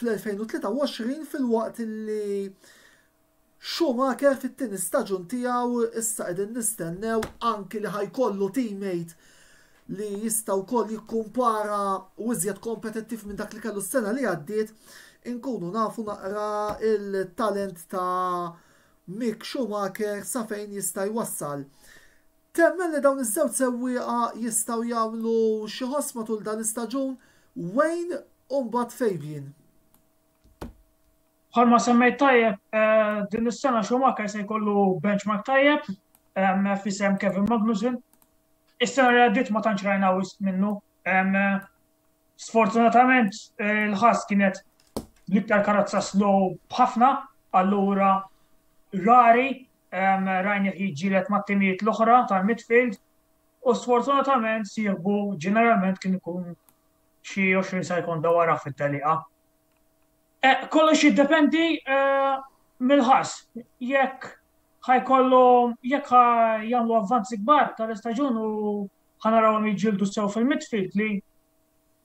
[SPEAKER 1] fl-2023 filwaqt illi Schumacher fit-tieni staġun tiegħu issa qegħdin nistennew anki li ħa jkollu teammate li jista' wkoll jikkumpara u iżjed kompetittiv minn dak li kellu s-sena li għaddiet, inkunu nafu naqra il-talent ta' Mick Schumacher sa fejn jista' jwassal. Temmen li dawn iż-żewġ sewwieqa jistgħu jagħmlu xi ħoss matul dan l-istaġun Wayne u mbagħad Fabian?
[SPEAKER 2] Bħalma semmejt tajjeb, eh, din is-sena Schumacher se jkollu benchmark tajjeb eh, f'isem Kevin Magnussen. Is-sena li għaddiet ma tantx rajna wisq minnu. Sfortunatament eh, l-ħass kienet l-iktar karozza slow b'ħafna, allura rari rajni jiġġieled mat-timijiet l-oħra tal-midfield u sfortunatament sieħbu ġeneralment kien ikun xi 20 sekonda wara fit-teliqa. Eh, kollox jiddependi eh, mill-ħass. Jekk ħajkollu jekk jagħmlu avvanzi kbar tal-istaġun u ħanarawhom jiġġieldu sew fil-midfield li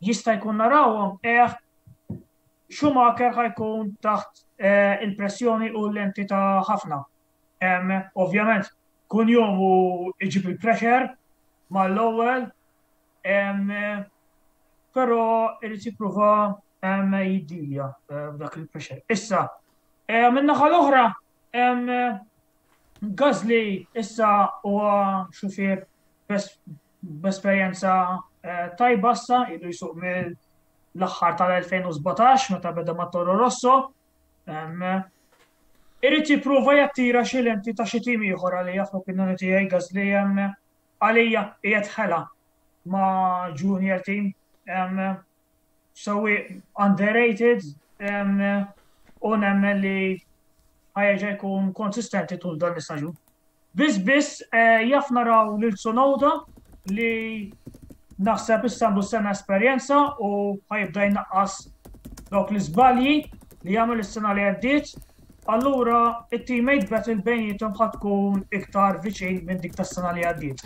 [SPEAKER 2] jista' jkun narawhom eh Schumacher ħajkun taħt eh, il-pressjoni u l-lenti ta' ħafna. Ovvjament, kun jum u iġib il-pressure mal-ewwel, però irid jipprova jiddilja eh, b'dak il-pressure. Issa, eh, min-naħa l-oħra, Gasly issa huwa xufier b'esperjenza eh, tajba issa ilu jsuq mill l-aħħar tal-2017 meta beda ma' Toro Rosso. Irid jipprova jattira xi lenti ta' xi tim ieħor għalija fl-opinjoni tiegħi Gasly għalija qiegħed ħela ma' junior team. Sewwieq underrated. U nemmen li ħa jerġa' jkun konsistenti tul dan l-istaġun. Biss biss eh, jaf naraw lil Tsunoda li naħseb issa għandu sena esperjenza u ħajibda jnaqqas dawk l-iżbalji li jagħmel is-sena li għaddiet. Allura it-teammate battle bejnietom ħa tkun iktar viċin minn dik tas-sena li għaddiet.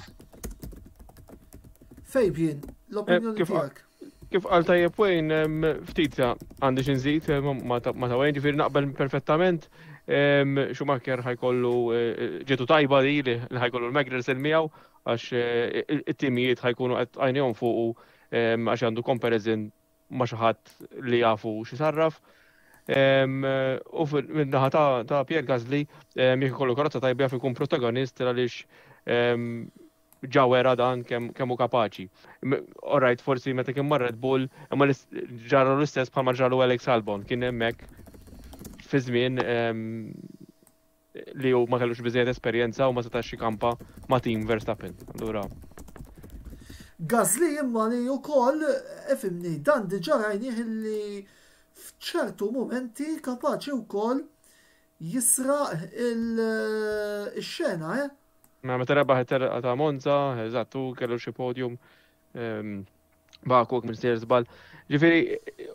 [SPEAKER 1] Fabian, l-opinjoni eh, tiegħek.
[SPEAKER 4] Kif qal tajjeb Wayne, ftit għandi xi nżid eh, ma ta' Wayne, ġifieri naqbel perfettament. Schumacher ħajkollu eh, ġietu tajba li li ħajkollu l-Magnussen miegħu għax eh, it-timijiet ħajkunu qed għajnejhom fuqu għax għandu comparison ma' xi ħadd li jafu xi sarraf. U min-naħa ta' Pierre Gasly jekk ikollu karozza tajba jaf ikun protagonist għaliex ġa wera dan kemm hu kapaċi. Alright, forsi meta kien mar Red Bull, imma ġarru l-istess bħalma ġarru Alex Albon, kien hemmhekk fi żmien li hu ma kellux biżejjed esperjenza u ma setax jikampa ma' team Verstappen. Allura.
[SPEAKER 1] Gasly imma li wkoll, ifhimni, dan diġà rajnih li f'ċertu mumenti kapaċi wkoll jisraq il-xena, eh?
[SPEAKER 4] Mela meta rebaħ it-telqa ta' Monza, eżatt, u kellu xi podium ehm, Baku minn sejjer żball. Ġifieri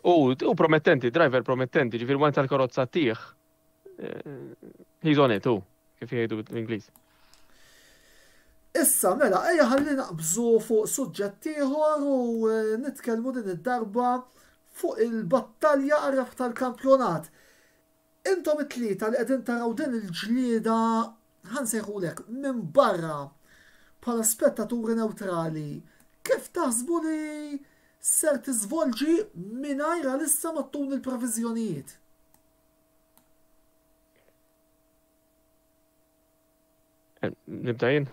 [SPEAKER 4] u promettenti, driver promettenti, ġifieri wara tal-karozza tih. Eh, he's on it, u kif jgħidu l-Ingliż.
[SPEAKER 1] Issa mela, ejja ħalli naqbżu fuq suġġett ieħor u eh, nitkellmu din id-darba fuq il-battalja għar tal-kampjonat. Intom it-tlieta li qegħdin taraw din il-ġlieda, ħa nsejħulek, minn barra, bħala spettaturi newtrali, kif taħsbu li ser tiżvolġi mingħajr għalissa ma ttuni l-previżjonijiet?
[SPEAKER 4] Nibda jien?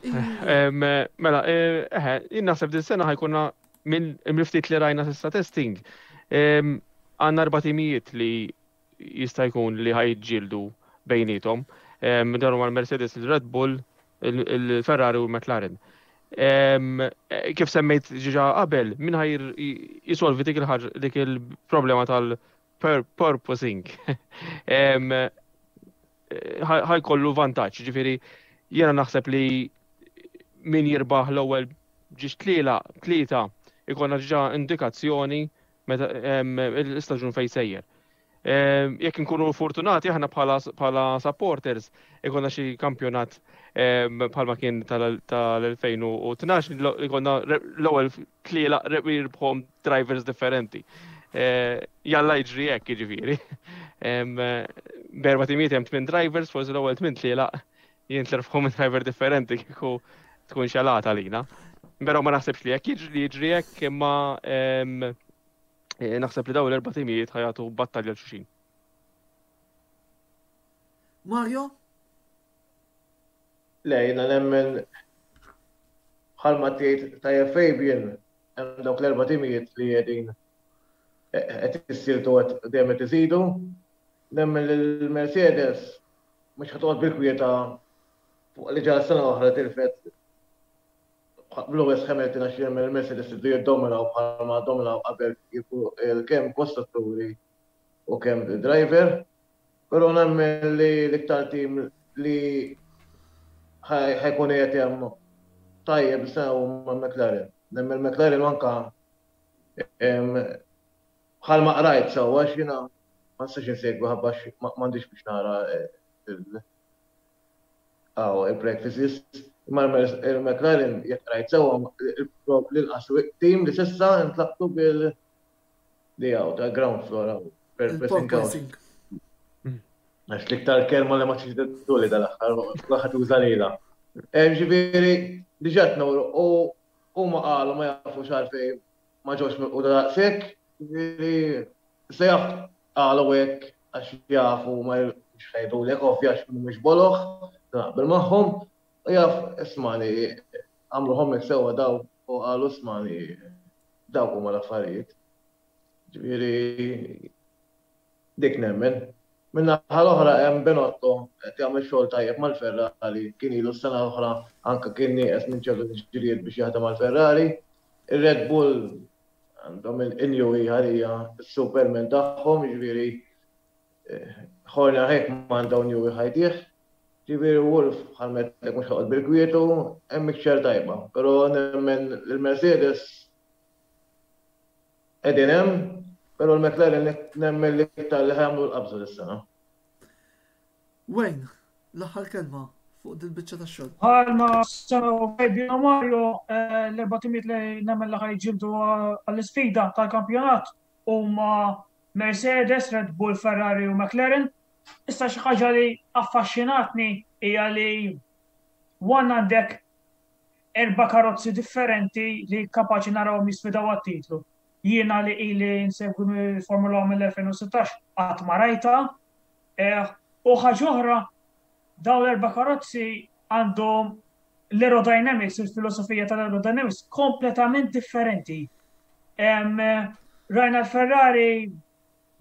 [SPEAKER 4] Mela, eħe, jien naħseb din sena ħajkunna minn ftit li rajna s'issa testing. Għandna erba' timijiet li jista' jkun li ħajġġieldu bejniethom. Dan huma l-Mercedes, il-Red Bull, il-Ferrari u l-McLaren. Kif semmejt ġiġa qabel, min ħaj jisolvi dik il-ħaġa dik il-problema tal-purposing. Ħajkollu vantaġġ, ġifieri jiena naħseb li min jirbaħ l-ewwel ġiex tliela tlieta ikollna ġiġa indikazzjoni meta l-istaġun fejn sejjer. Jekk inkunu fortunati aħna bħala supporters ikonna xi kampjonat bħalma kien tal-2012 li konna l-ewwel tliela jirbħom drivers differenti. Jalla jiġri hekk jiġifieri. Berba timijiet hemm tmien drivers, forsi l-ewwel tmien tliela jintlerfħu minn driver differenti kieku tkun xalata lina. Però ma naħsibx li jekk jiġri jiġri hekk imma eh, naħseb li dawn l-erba' timijiet ħajatu battalja l xulxin.
[SPEAKER 1] Mario?
[SPEAKER 3] Le, jiena nemmen bħalma tgħid tajjeb Fabian, hemm dawk l-erba' timijiet li qegħdin qed jissiltu qed dejjem qed iżidu. Nemmen li l-Mercedes mhux ħa toqgħod bil-kwieta fuq li ġara sena oħra tilfet b'Lewis Hamilton għax jemmen il-Mercedes iridu jiddominaw bħalma dominaw qabel kemm kostrutturi u kemm driver. Però nemmen li l-iktar tim li ħajkun qiegħed hemm tajjeb is-sena huma McLaren. Nemmen McLaren anka Bħalma qrajt sewwa għax jiena ma nistax insegwi ħabba għax m'għandix biex nara il-practices. Imma il-McLaren jekk qrajt sewwa l-inqas tim li s'issa ntlaqtu bil li hawn ta' ground floor hawn.
[SPEAKER 1] Il-porpoising.
[SPEAKER 3] Għax l-iktar kelma li ma tix li dal-aħħar, kulħadd juża lilha. Ġifieri, diġà tnawru u huma qalu ma jafux għalfejn ma ġewx milquta daqshekk, jiġifieri se jaf qalu hekk għax jafu ma mhux ħajdulek ovvja għax mhumiex boloh, naqbel magħhom, u jaf ismani għamlu homework sewwa daw u qalu ismani dawk huma l-affarijiet. Ġifieri Dik nemmen. Min-naħa l-oħra hemm Binotto qed jagħmel xogħol tajjeb mal-Ferrari, kien ilu s-sena l-oħra anke kien nieqes minn ċertu tiġrijiet biex jaħdem mal-Ferrari. Ir-Red Bull għandhom in-Newey għalija s-Superman tagħhom, jiġifieri. Horner hekk m'għandha Newey ħajdih. Ġifieri Wolff bħal m'għedtlek mhux ħa joqgħod bil-kwietu, hemm mixture tajba. Però nemmen li l-Mercedes qegħdin hemm, però l-McLaren nemmen li iktar li ħa jagħmlu l-qabża dis-sena.
[SPEAKER 1] Wayne, l-aħħar kelma fuq dil-biċċa tax-xogħol.
[SPEAKER 2] Bħalma semgħu Fabio u Mario, l-erba' timijiet li nemmen li ħa jiġġieldu għall-isfida tal-kampjonat huma Mercedes, Red Bull, Ferrari u McLaren. Issa xi ħaġa li affaxxinatni hija li one għandek erba' karozzi differenti li kapaċi narawhom jisfidaw għat-titlu. Jiena li ili nsegwi l-Formula 1 mill-2016 qatt ma rajtha. U ħaġa oħra, dawn l-erba' karozzi għandhom l-aerodynamics, il-filosofija tal-aerodynamics kompletament differenti. Rajna l-Ferrari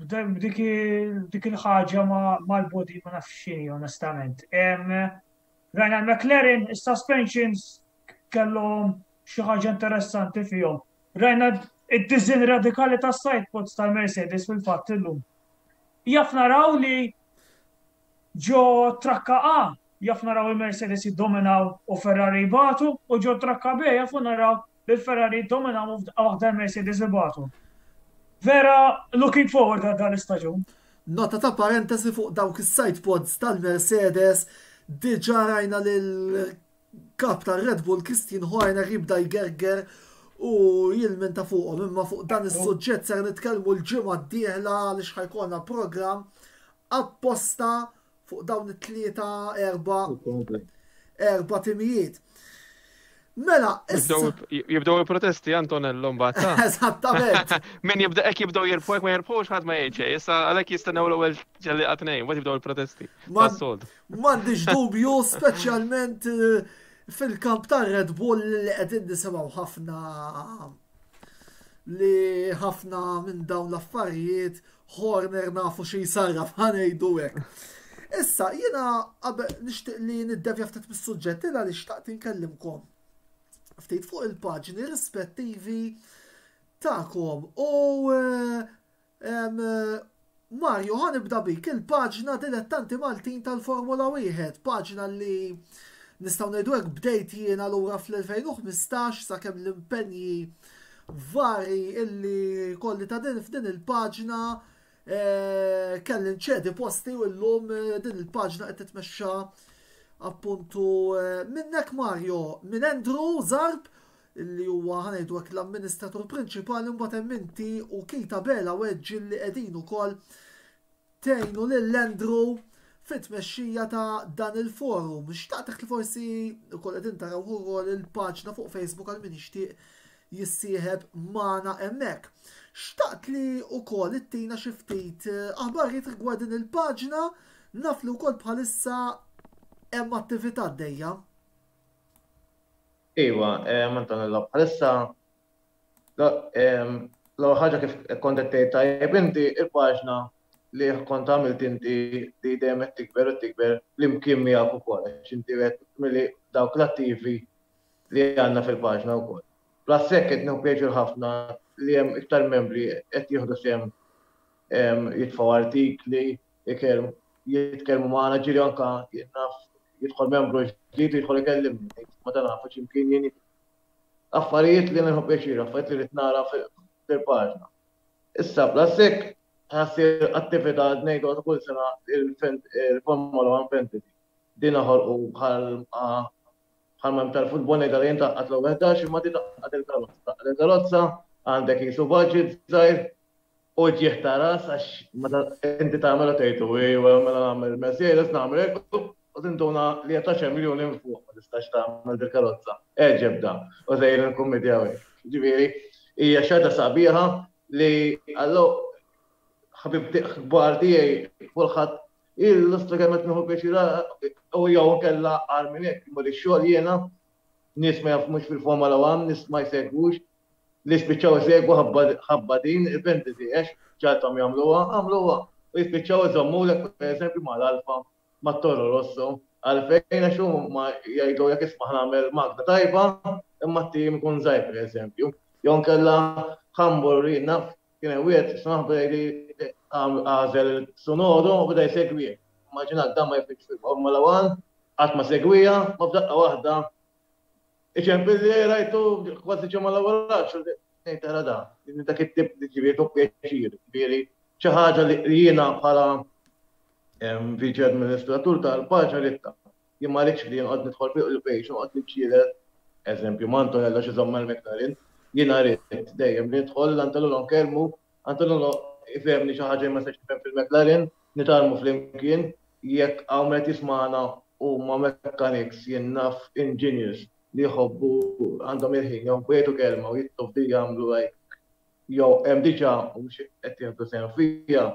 [SPEAKER 2] dik il-ħaġa mal-body ma nafx x'inhi onestament. Rajna l-McLaren, is-suspensions kellhom xi ħaġa interessanti fihom. Rajna id-design radikali tas-sidepods tal-Mercedes fil-fatt illum. Jaf naraw li ġo trakka A jaf naraw il-Mercedes jiddominaw u Ferrari jbatu u ġo trakka B jafu naraw li l-Ferrari jiddominaw u f'daqqa waħda l-Mercedes ibatu. Vera looking forward għal dan l-istaġun.
[SPEAKER 1] Nota ta' parentesi fuq dawk is-side pods tal-Mercedes, diġà rajna lil Kap tar-Red Bull Christian Horner jibda jgerger u jilmenta fuqhom imma fuq dan is-suġġett ser nitkellmu l-ġimgħa d-dieħla għaliex ħajkolna programm apposta fuq dawn it-tlieta erba' erba' timijiet. Mela,
[SPEAKER 4] issa. Jibdew il-protesti Antonello mbagħad.
[SPEAKER 1] Eżattament.
[SPEAKER 4] Min jibda hekk jibdew jirbħu hekk ma jirbħux ħadd ma jgħid xejn. Issa għalhekk jistennew l-ewwel ġelliqa tnejn, mbagħad jibdew il-protesti.
[SPEAKER 1] M'għandix dubju, speċjalment eh, fil-kamp ta' Red Bull li qegħdin nisimgħu ħafna li ħafna minn dawn l-affarijiet Horner nafu xi jsarraf ħanejdu hekk. Issa, jiena qabel nixtieq li niddevja ftit mis-suġġett li għaliex xtaqt inkellimkom ftit fuq il-paġni rispettivi tagħkom u eh, Mario, ħa nibda bik, il-paġna Dilettanti Maltin tal-Formula 1, paġna li nistgħu ngħidu hekk bdejt jiena lura fl-2015 sakemm l-impenji vari illi kolli ta' din f'din il-paġna eh, kelli nċedi posti u llum eh, din il-paġna qed titmexxa appuntu eh, minnek Mario, minn Andrew Zarb li huwa ħa ngħidu hekk l-amministratur prinċipali mbagħad hemm inti u Keith Abela Wedge li qegħdin ukoll tgħinu lil Andrew fit-tmexxija ta' dan il-forum. Xtaqtek li forsi ukoll qegħdin taraw ukoll il-paġna fuq Facebook għal min jixtieq jissieħeb magħna hemmhekk. Xtaqt li ukoll ittina xi ftit eh, aħbarijiet rigward din il-paġna naf li wkoll bħalissa hemm attività għaddejja.
[SPEAKER 3] Iva, Antonello, bħalissa l-ewwel ħaġa kif kont qed tgħid tajjeb inti, il-paġna li kont għamilt inti li dejjem qed tikber u tikber flimkien miegħek ukoll għax inti wieħed milli dawk l-attivi li għandna fil-paġna wkoll. Plus hekk qed nieħu pjaċir ħafna li hemm iktar membri qed jieħdu sehem jitfgħu artikli, jitkellmu magħna ġieli anke naf jidħol membru ġdid u jidħol ikellimni, ngħid ma ta' nafu x'imkien jien affarijiet li nieħu pjaċir, affarijiet li rrid nara fil-paġna. Issa plus hekk ħassir attività ngħidu ta' kull sena il-Formula 1 Fantasy. Din ħolqu bħal bħal ma tal-futbol ngħidha li jien taqqat l-ewwel 11 imma di taqqat il-karozza. Taqqat il-karozza għandek jisu budget żgħir Uġigħ ta' ras għax meta inti tagħmel u tgħid ejwa mela nagħmel Mercedes nagħmel hekk u tinduna li qed għaxar miljuni minn fuq ma tistax tagħmel dil-karozza. Eġeb da u sejrin nikkummedjaw hekk. Ġifieri hija xi ħaġa sabiħa li allo ħabib kbar tiegħi kulħadd il-lustra kemm qed nieħu pjaċir u jew inkella agħar minn hekk imur ix-xogħol jiena nies ma jafux fil-Formula One, nies ma jsegwux, li spiċċaw isegwu ħabba din il-fantasy għax ġagħalthom jagħmluha, għamluha u jispiċċaw iżommulek pereżempju mal-Alfa, mat-Toro Rosso, għalfejn għax huma jgħidulek isma' ħa nagħmel magna tajba imma t-tim ikun żgħir pereżempju. Jew inkella ħa mmur jien naf kien hemm wieħed issa naħbu jgħidli. għażel Tsunoda u beda jsegwih. Immaġinak dan ma jifhimx fil-Formula 1, qatt ma segwiha, ma f'daqqa waħda iċempilli rajtu kważi ġimgħa l-ewwel raġ, ngħid tara da, dak it-tip li ġifieri tu pjaċir, ġifieri xi ħaġa li jiena bħala viċi administratur tal-paġna ritta. Jien ma rridx li nqgħod nidħol fuq il-page u noqgħod niġġieled, eżempju, ma' Antonello xi żomm mal-McLaren. Jiena rrid dejjem li nidħol l-Antonello nkellmu, Antonello ifehmni xi ħaġa ma nistax nifhem fil-McLaren, nitgħallmu flimkien, jekk hawn min qed jismagħna huma mechanics, jien naf engineers li jħobbu għandhom il-ħin jħobbu jgħidu kelma u jittu f'di jagħmlu like jew hemm diġà u mhux qed jieħdu sehem fiha,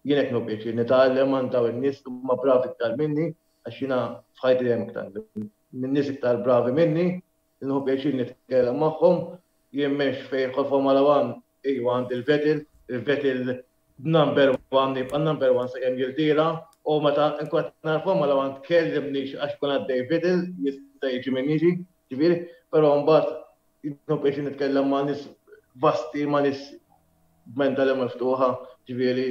[SPEAKER 3] jien hekk nieħu pjaċir nitgħallem għand dawn in-nies li huma bravi iktar minni għax jiena f'ħajti dejjem iktar minn nies iktar bravi minni, nieħu pjaċir nitkellem magħhom, jien m'hemmx fejn jidħol Formula One, iva għandi l-Vettel, il-Vettel number one jibqa' number one sakemm jirtira u meta nkun qed nara Formula One tkellimnix għax kun għaddej Vettel jista' jiġi min jiġi, ġifieri, però mbagħad nieħu pjaċir nitkellem ma' nies vasti, ma' nies b'mentali miftuħa, ġifieri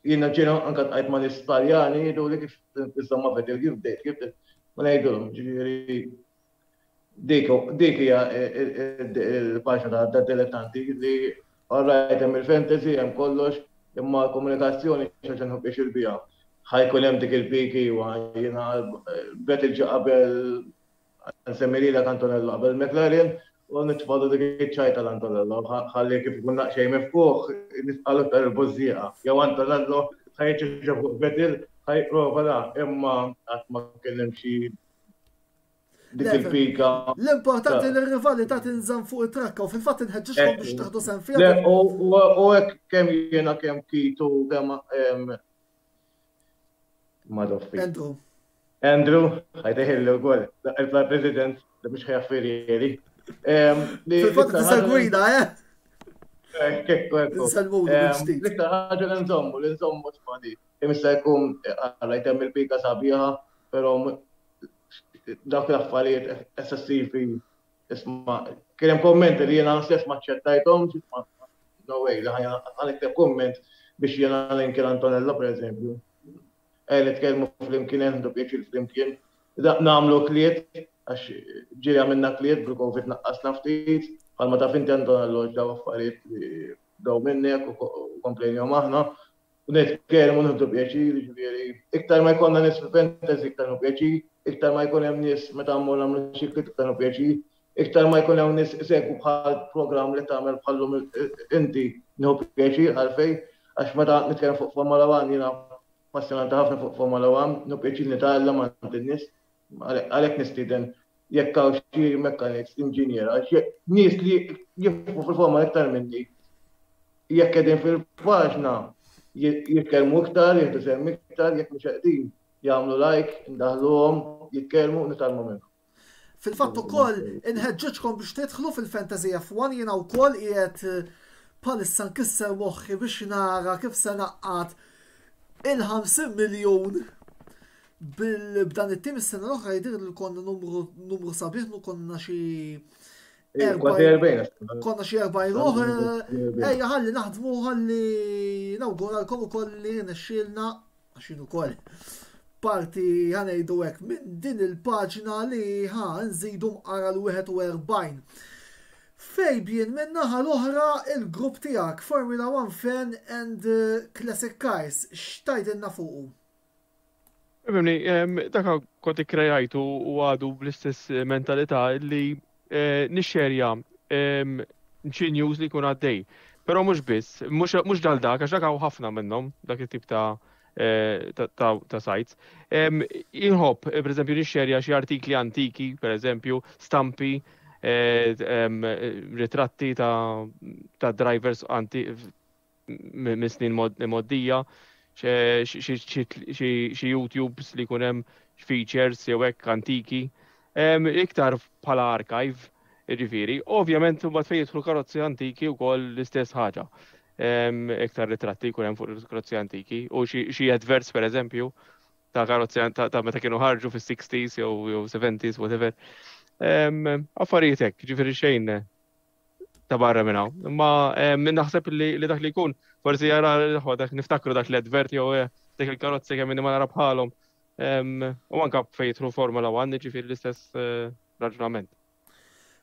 [SPEAKER 3] Jiena ġieli anke tqajt ma' nies Taljani jgħiduli kif insomma Vettel kif bdejt, kif bdejt. Ma ngħidulhom, ġifieri dik dik hija il-paġna ta' dilettanti li alright hemm il-fantasy hemm kollox imma l-komunikazzjoni xi ħaġa nħobb pjaċir biha. Ħa jkun hemm dik il-piki iwa jiena Vettel ġie qabel Nsemmi lilek Antonello qabel McLaren u nitfgħu dik iċ-ċajta l-Antonello ħalli kif ikun daqsxejn mifquh nitqalu iktar il-bużżieqa. Jew Antonello ħa jiċċeċċa fuq Vettel ħa jipprova da imma qatt ma kien hemm xi dik il-pika.
[SPEAKER 1] L-importanti li r-rivalità tinżamm fuq it-trakka u fil-fatt inħeġġiġkom biex taħdu sehem fiha.
[SPEAKER 3] U hekk kemm jiena kemm Kitu kemm Madoffi.
[SPEAKER 1] Andrew.
[SPEAKER 3] Andrew, ħajteħilli wkoll, il-president li mhux ħjaffirieri.
[SPEAKER 1] Fil-fatt tisegwina, eh?
[SPEAKER 3] L-iktar ħaġa li nżommu, li nżommu smadi. Imissa jkun għalla jtemm il-pika sabiħa, però dawk l-affarijiet eccessivi isma' kien hemm kommenti li jiena stess ma ċċettajthomx, isma' no way li ħa nikteb kumment biex jiena ninki l-Antonello pereżempju. Ejja nitkellmu flimkien, ejja nieħdu pjaċir flimkien. Nagħmlu kliet, għax ġieli għamilna kliet bil-Covid naqqasna ftit, bħalma taf inti Antonello daw affarijiet li bdew minnek u komplejnihom aħna. U nitkellmu nieħdu pjaċir, jiġifieri iktar ma jkollna nies fil-fantasy iktar nieħu pjaċir, iktar ma jkun hemm nies meta mmur nagħmlu xi kliet iktar nieħu pjaċir, iktar ma jkun hemm nies isegwu bħal programm li tagħmel bħallum inti nieħu pjaċir għalfejn għax meta nitkellem fuq Formula One jiena passjonanti ħafna fuq Formula One, nieħu pjaċir nitgħallem għand in-nies, għalhekk nistieden jekk hawn xi mechanics, inġiniera, nies li jifhmu fil-Formula iktar minni, jekk qegħdin fil-paġna jitkellmu iktar, jieħdu sehem iktar, jekk mhux qegħdin jagħmlu like, indaħluhom, jitkellmu, nitgħallmu minnhom.
[SPEAKER 1] Fil-fatt ukoll inħeġġeġkom biex tidħlu fil-Fantasy F1 jiena wkoll qiegħed eh, bħalissa nkisser moħħi biex nara kif se naqqat il-50 miljun b'dan it-tim is-sena l-oħra jidher li konna numru numru sabiħ konna xi Konna xi 40 ruħ, eh, ejja ħalli naħdmu ħalli nawguralkom ukoll li nexxielna għax jien ukoll parti ħanejdu hekk minn din il-paġna li ħa nżidu mqara l-41. Fabian minn naħa l-oħra il-grupp tiegħek Formula One Fan and eh, Classic Cars x'tajdilna fuqu?
[SPEAKER 4] Fimni, dak kont ikkrejajtu u għadu bl-istess mentalità li eh, nixxerja xi news li jkun għaddej. Però mhux biss, mhux dal dak, għax dak hawn ħafna minnhom, dak it-tip ta' eh, ta' sites. Inħobb, eh, per eżempju, nixxerja xi artikli antiki, per eżempju, stampi, ritratti ta' drivers anti minn snin moddija, xi YouTubes li jkun hemm features jew hekk antiki. Iktar bħala archive, jiġifieri. Ovvjament imbagħad fejn jidħlu karozzi antiki wkoll l-istess ħaġa. Iktar ritratti jkun hemm fuq il-karozzi antiki u xi adverts pereżempju ta' karozzi ta' meta kienu ħarġu fis-60s jew 70s, whatever. Affarijiet hekk, ġifieri xejn. ta' barra minn hawn. Imma naħseb li dak li jkun forsi jara dak niftakru dak l-advert jew eh, dik il-karozzi kemm ma nara bħalhom. U anka fejn jidħlu Formula 1, ġifieri l-istess eh, raġunament.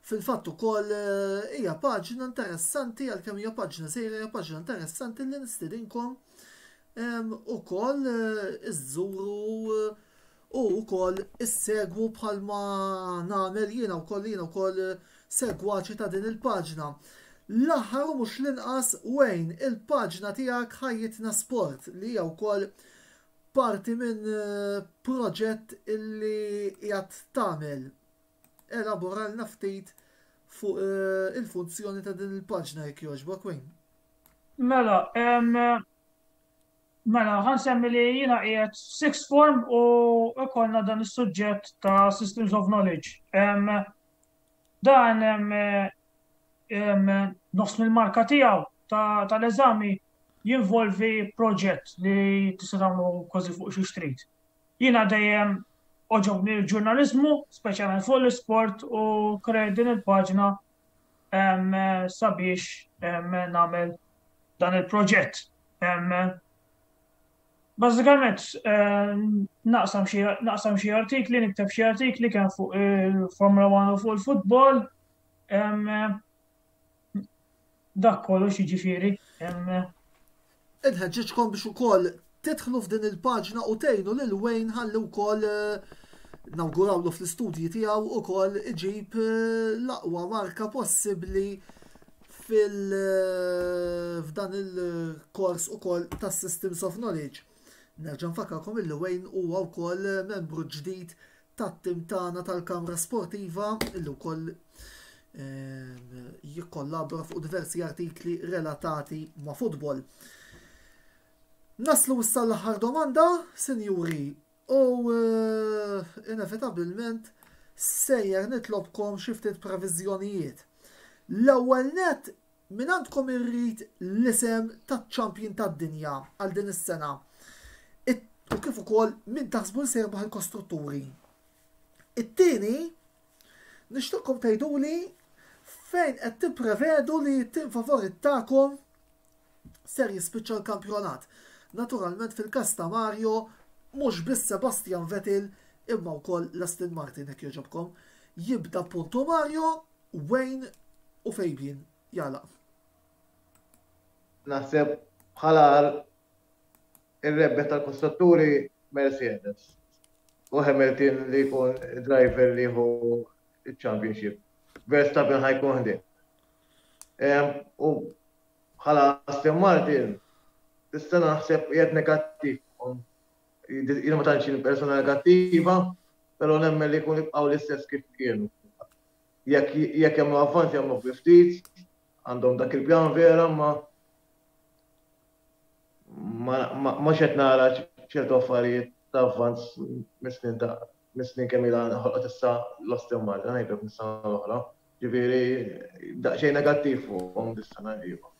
[SPEAKER 1] Fil-fatt ukoll eh, hija paġna interessanti għalkemm hija paġna sejra hija paġna interessanti li nistidinkom ukoll eh, iżżuru eh, u wkoll issegwu bħalma nagħmel jiena wkoll jiena wkoll segwaċi ta' din il-paġna. L-aħħar u mhux l-inqas Wayne, il-paġna tiegħek Ħajjitna Sport li hija wkoll parti minn proġett illi qiegħed tagħmel. Elaboralna ftit fuq eh, il-funzjoni ta' din il-paġna jekk jogħġbok Wayne.
[SPEAKER 2] Mela, mela, ħansemmi li jiena qiegħed sixth form u ikollna dan is-suġġett ta' Systems of Knowledge. Dan nofs mill-marka tiegħu tal-eżami jinvolvi proġett li tista' tagħmlu kważi fuq xi trid. Jiena dejjem għoġobni l-ġurnaliżmu, speċjalment fuq l-isport u krejt din il-paġna sabiex nagħmel dan il-proġett. Bażikament naqsam xi naqsam xi artikli, nikteb xi artikli kemm fuq il-Formula 1 u fuq il-futbol. Dak kollox jiġifieri.
[SPEAKER 1] Inħeġġiġkom biex ukoll tidħlu f'din il-paġna u tgħinu lil Wayne ħalli wkoll eh, nawgurawlu fl-istudji tiegħu ukoll iġib eh, l-aqwa marka possibbli fil eh, f'dan il-kors ukoll tas Systems of Knowledge. Nerġa' nfakkarkom illi Wayne huwa wkoll membru ġdid tat-tim tagħna tal-Kamra Sportiva illi wkoll ehm, jikkollabora fuq diversi artikli relatati ma' futbol. Naslu issa l-aħħar domanda, sinjuri, u eh, inevitabilment sejjer nitlobkom xi ftit previżjonijiet. L-ewwel net Mingħandkom irrid l-isem taċ-champion tad-dinja għal din is-sena u kif ukoll min taħsbu li se jirbaħ il-kostrutturi. It-tieni, nixtieqkom tgħiduli fejn qed tipprevedu li t-tim favorit tagħkom ser jispiċċa l-kampjonat. Naturalment fil-każ ta' Mario mhux biss Sebastian Vettel imma wkoll l-Aston Martin jekk jogħġobkom. Jibda puntu Mario Wayne u Fabian jagħlaq.
[SPEAKER 3] Naħseb bħala ir-rebbieħ tal-kostrutturi Mercedes u Hamilton li jkun driver li jieħu il-championship. Verstappen ħajkun ħdejh. U bħala Aston Martin, is-sena naħseb qiegħed negattiv. Jien ma tantx persona negattiva, però nemmen li jkun jibqgħu l-istess kif kienu. Jekk jekk jagħmlu avvanz jagħmlu bi ftit, għandhom dak il-pjan vera ma ma qed nara ċertu affarijiet ta' avvanz mis-snin ta' mis-snin kemm ilha ħolqot issa l-Aston Martin, ngħidlek mis-sena l-oħra. Ġifieri daqsxejn negattiv fuqhom dis-sena iva.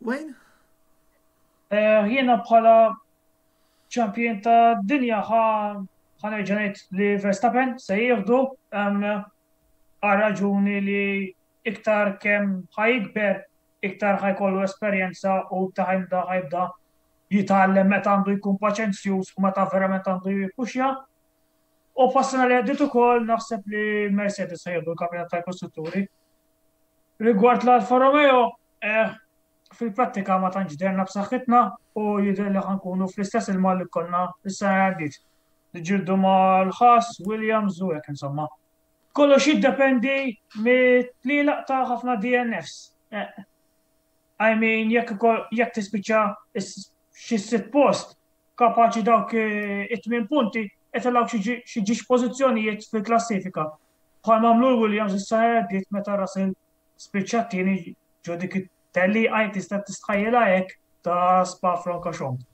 [SPEAKER 1] Wayne?
[SPEAKER 2] Eh, jiena bħala champion ta' dinja ħa nerġa' ngħid li Verstappen se jieħdu għal raġuni li iktar kemm ħajkber iktar ħajkollu esperjenza u ta' ħajbda ħajbda jitgħallem meta għandu jkun paċenzjuż u meta verament għandu jippuxja. U passina li għaddit ukoll naħseb li Mercedes se jieħdu l-kampjonat tal-kostrutturi. Rigward l-Alfa Romeo, eh, fil-prattika ma tantx derna b'saħħitna u jidher li ħankunu fl-istess ilma li konna is-sena li għaddiet. Niġġieldu mal-Haas, Williams u hekk insomma. Kollox jiddependi mit-tlielaq ta' ħafna DNFs. Eh, I mean, jekk jekk tispiċċa xi sitt post, kapaċi dawk eh, it-tmien punti itilgħu xi ġiex pożizzjonijiet fil-klassifika. Bħal mamlu l-Williams is-sena li għaddiet meta Russell spiċċa t-tieni ġo dik it-tellieqa jekk tista' tistħajjilha hekk ta' Spa-Francorchamps.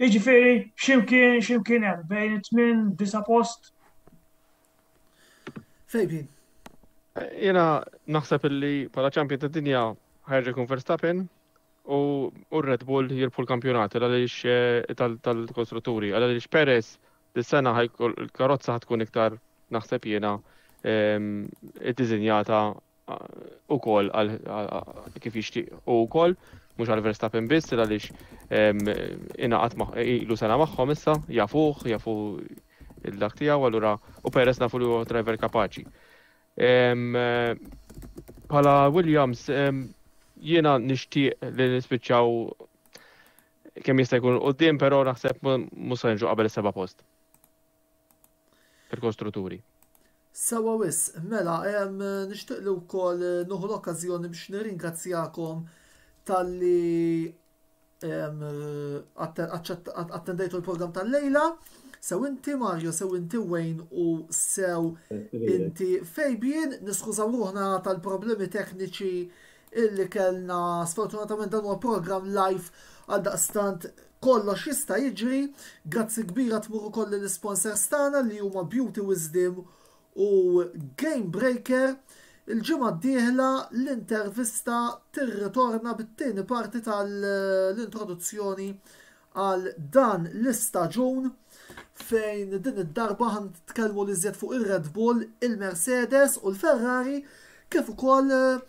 [SPEAKER 2] Jiġifieri x'imkien x'imkien hemm bejn it-tmien disa' post.
[SPEAKER 1] Fabian.
[SPEAKER 4] Jiena naħseb illi bħala champion tad-dinja ħa jerġa' jkun Verstappen u r-Red Bull jirbħu l-kampjonat għaliex eh, tal-kostrutturi għaliex Perez dis-sena il-karozza ħatkun iktar naħseb jiena ehm, iddiżinjata ukoll għal kif jixtieq u wkoll mhux għal Verstappen biss għaliex ingħaqad ilu sena magħhom issa, jafuh, jafu il-dak tiegħu allura u Perez nafu li huwa driver kapaċi. Bħala Williams jiena nixtieq li nispiċċaw kemm jista' jkun quddiem, però naħseb mhux se niġu qabel is-seba' post fil-kostrutturi.
[SPEAKER 1] Sewwa wisq, mela, nixtieq li wkoll nieħu l-okkażjoni biex nirringrazzjakom talli attendejtu l-programm tal-lejla. Sew inti Mario, sew inti Wayne u sew inti Fabian, niskużaw ruħna tal-problemi tekniċi illi kellna sfortunatament dan huwa programm live għal daqstant kollox jista' jiġri. Grazzi kbira tmur ukoll lill-isponsors tagħna li huma Beauty Wisdom u Game Breaker. Il-ġimgħa d-dieħla l-intervista tirritorna bit-tieni parti tal-introduzzjoni għal dan l-istaġun fejn din id-darba ħan nitkellmu li żjed fuq ir-Red Bull, il-Mercedes u l-Ferrari kif ukoll eh,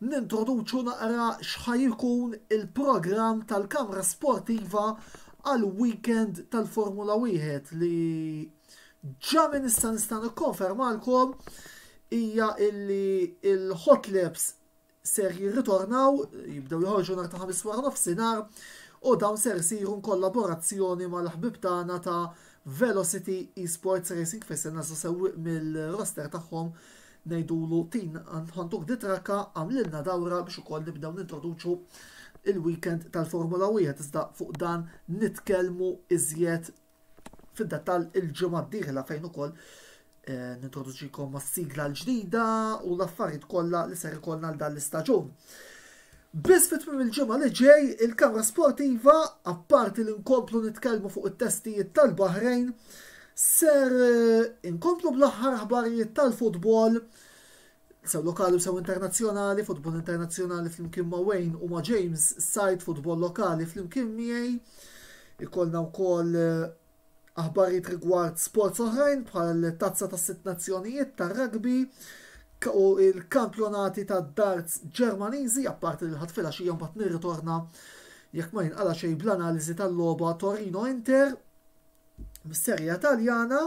[SPEAKER 1] nintroduċu naqra x'ħaj jkun il-programm tal-Kamra Sportiva għal weekend tal-Formula 1 li ġa minn issa nista' nikkonfermalkom hija illi il-hot laps ser jirritornaw, jibdew joħorġu nhar ta' Ħamis wara nofsinhar u dawn ser isiru kollaborazzjoni mal-ħbieb tagħna ta' Velocity Esports Racing fejn se nażlu sewwieq mill-roster tagħhom ngħidulu tin ħantuk ditrakka għamlilna dawra biex ukoll nibdew nintroduċu il-weekend tal-Formula 1 iżda fuq dan nitkellmu iżjed fid-dettall il-ġimgħa d-dieħla fejn ukoll eh, nintroduċikom mas-sigla l-ġdida u l-affarijiet kollha li ser ikollna għal dan l-istaġun. Biss fit tmiem il-ġimgħa li ġej, il-Kamra Sportiva, apparti li nkomplu nitkellmu fuq it-testijiet tal-Baħrejn, ser eh, inkomplu bl-aħħar aħbarijiet tal-futbol sew lokali u sew internazzjonali, futbol internazzjonali flimkien ma' Wayne u ma' James Said, futbol lokali flimkien miegħi. Ikollna wkoll eh, aħbarijiet rigward sports oħrajn bħal tazza tas sitt nazzjonijiet tar-rugby u il-kampjonati tad-darts Ġermaniżi, apparti li l-ħadd filgħaxija mbagħad nirritorna jekk ma jinqala xejn bl-analiżi tal-logħba Torino Inter mis-Serja Taljana.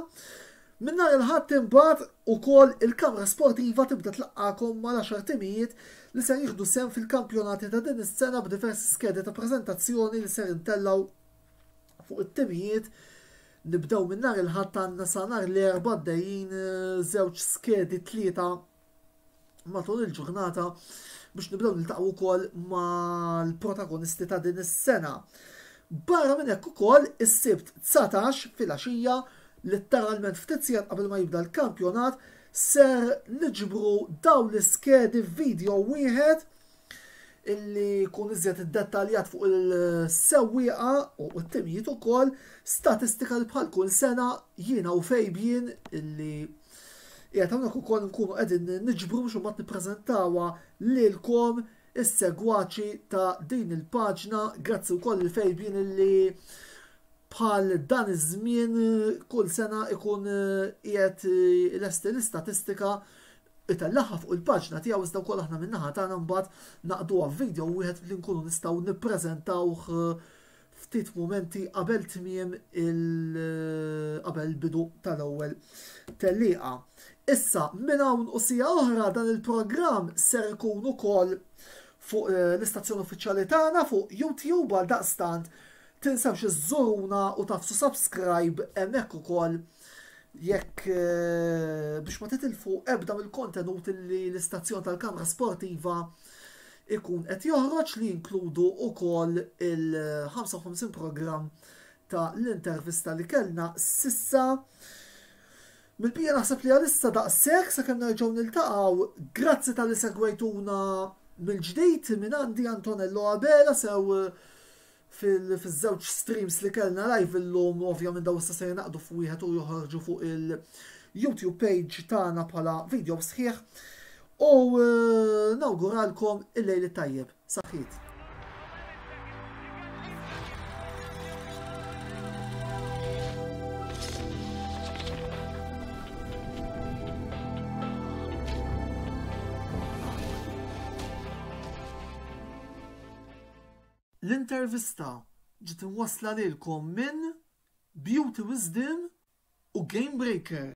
[SPEAKER 1] Minn nhar il-Ħadd imbagħad ukoll il-Kamra Sportiva tibda tlaqqagħkom mal-għaxar timijiet li ser jieħdu sehem fil-kampjonati ta' din is-sena b'diversi skedi ta' preżentazzjoni li ser intellgħu fuq it-timijiet. Nibdew minn nhar il-Ħadd għandna sa nhar l-Erbgħa għaddejjin eh, żewġ skedi tlieta matul il-ġurnata biex nibdew niltaqgħu wkoll mal-protagonisti ta' din is-sena. Barra minn hekk ukoll is-Sibt 19 filgħaxija litteralment ftit sigħat qabel ma jibda l-kampjonat ser niġbru dawn l-iskedi f'video wieħed illi jkun iżjed iddettaljat fuq il-sewwieqa u t-timijiet ukoll, statistika li bħal kull sena jiena u Fabian illi qiegħed hawnhekk ukoll nkunu qegħdin niġbru biex imbagħad nippreżentawha lilkom is-segwaċi ta' din il-paġna. Grazzi wkoll lil Fabian illi bħal dan iż-żmien kull sena ikun qiegħed ilesti l-istatistika itellagħha fuq il-paġna tiegħu iżda wkoll aħna min-naħa tagħna mbagħad naqduha f'video wieħed li nkunu nistgħu nippreżentawh eh, ftit mumenti qabel tmiem il eh, qabel bidu tal-ewwel tellieqa. Issa minn hawn u sija oħra dan il-programm ser ikun ukoll fuq eh, l-istazzjon uffiċjali tagħna fuq YouTube għal daqstant tinsewx iżżuruna u tafsu subscribe hemmhekk ukoll jekk eh, biex ma titilfu ebda mill-kontenut li l-istazzjon tal-Kamra Sportiva ikun qed joħroġ li jinkludu ukoll il-55 programm ta' l-intervista li kellna sissa. Mill-bija naħseb li għalissa daqshekk sakemm nerġgħu niltaqgħu, grazzi tal-li segwejtuna mill-ġdid minn għandi Antonello Abela sew Fil-żewġ streams li kellna live illum, ovvjament daw issa se jingħaqdu f'wieħed u joħorġu fuq il-YouTube page tagħna bħala video sħiħ. U eh, nawguralkom il-lejl it-tajjeb. Saħħit. L-intervista ġiet imwassla lilkom minn Beauty Wisdom u Game Breaker.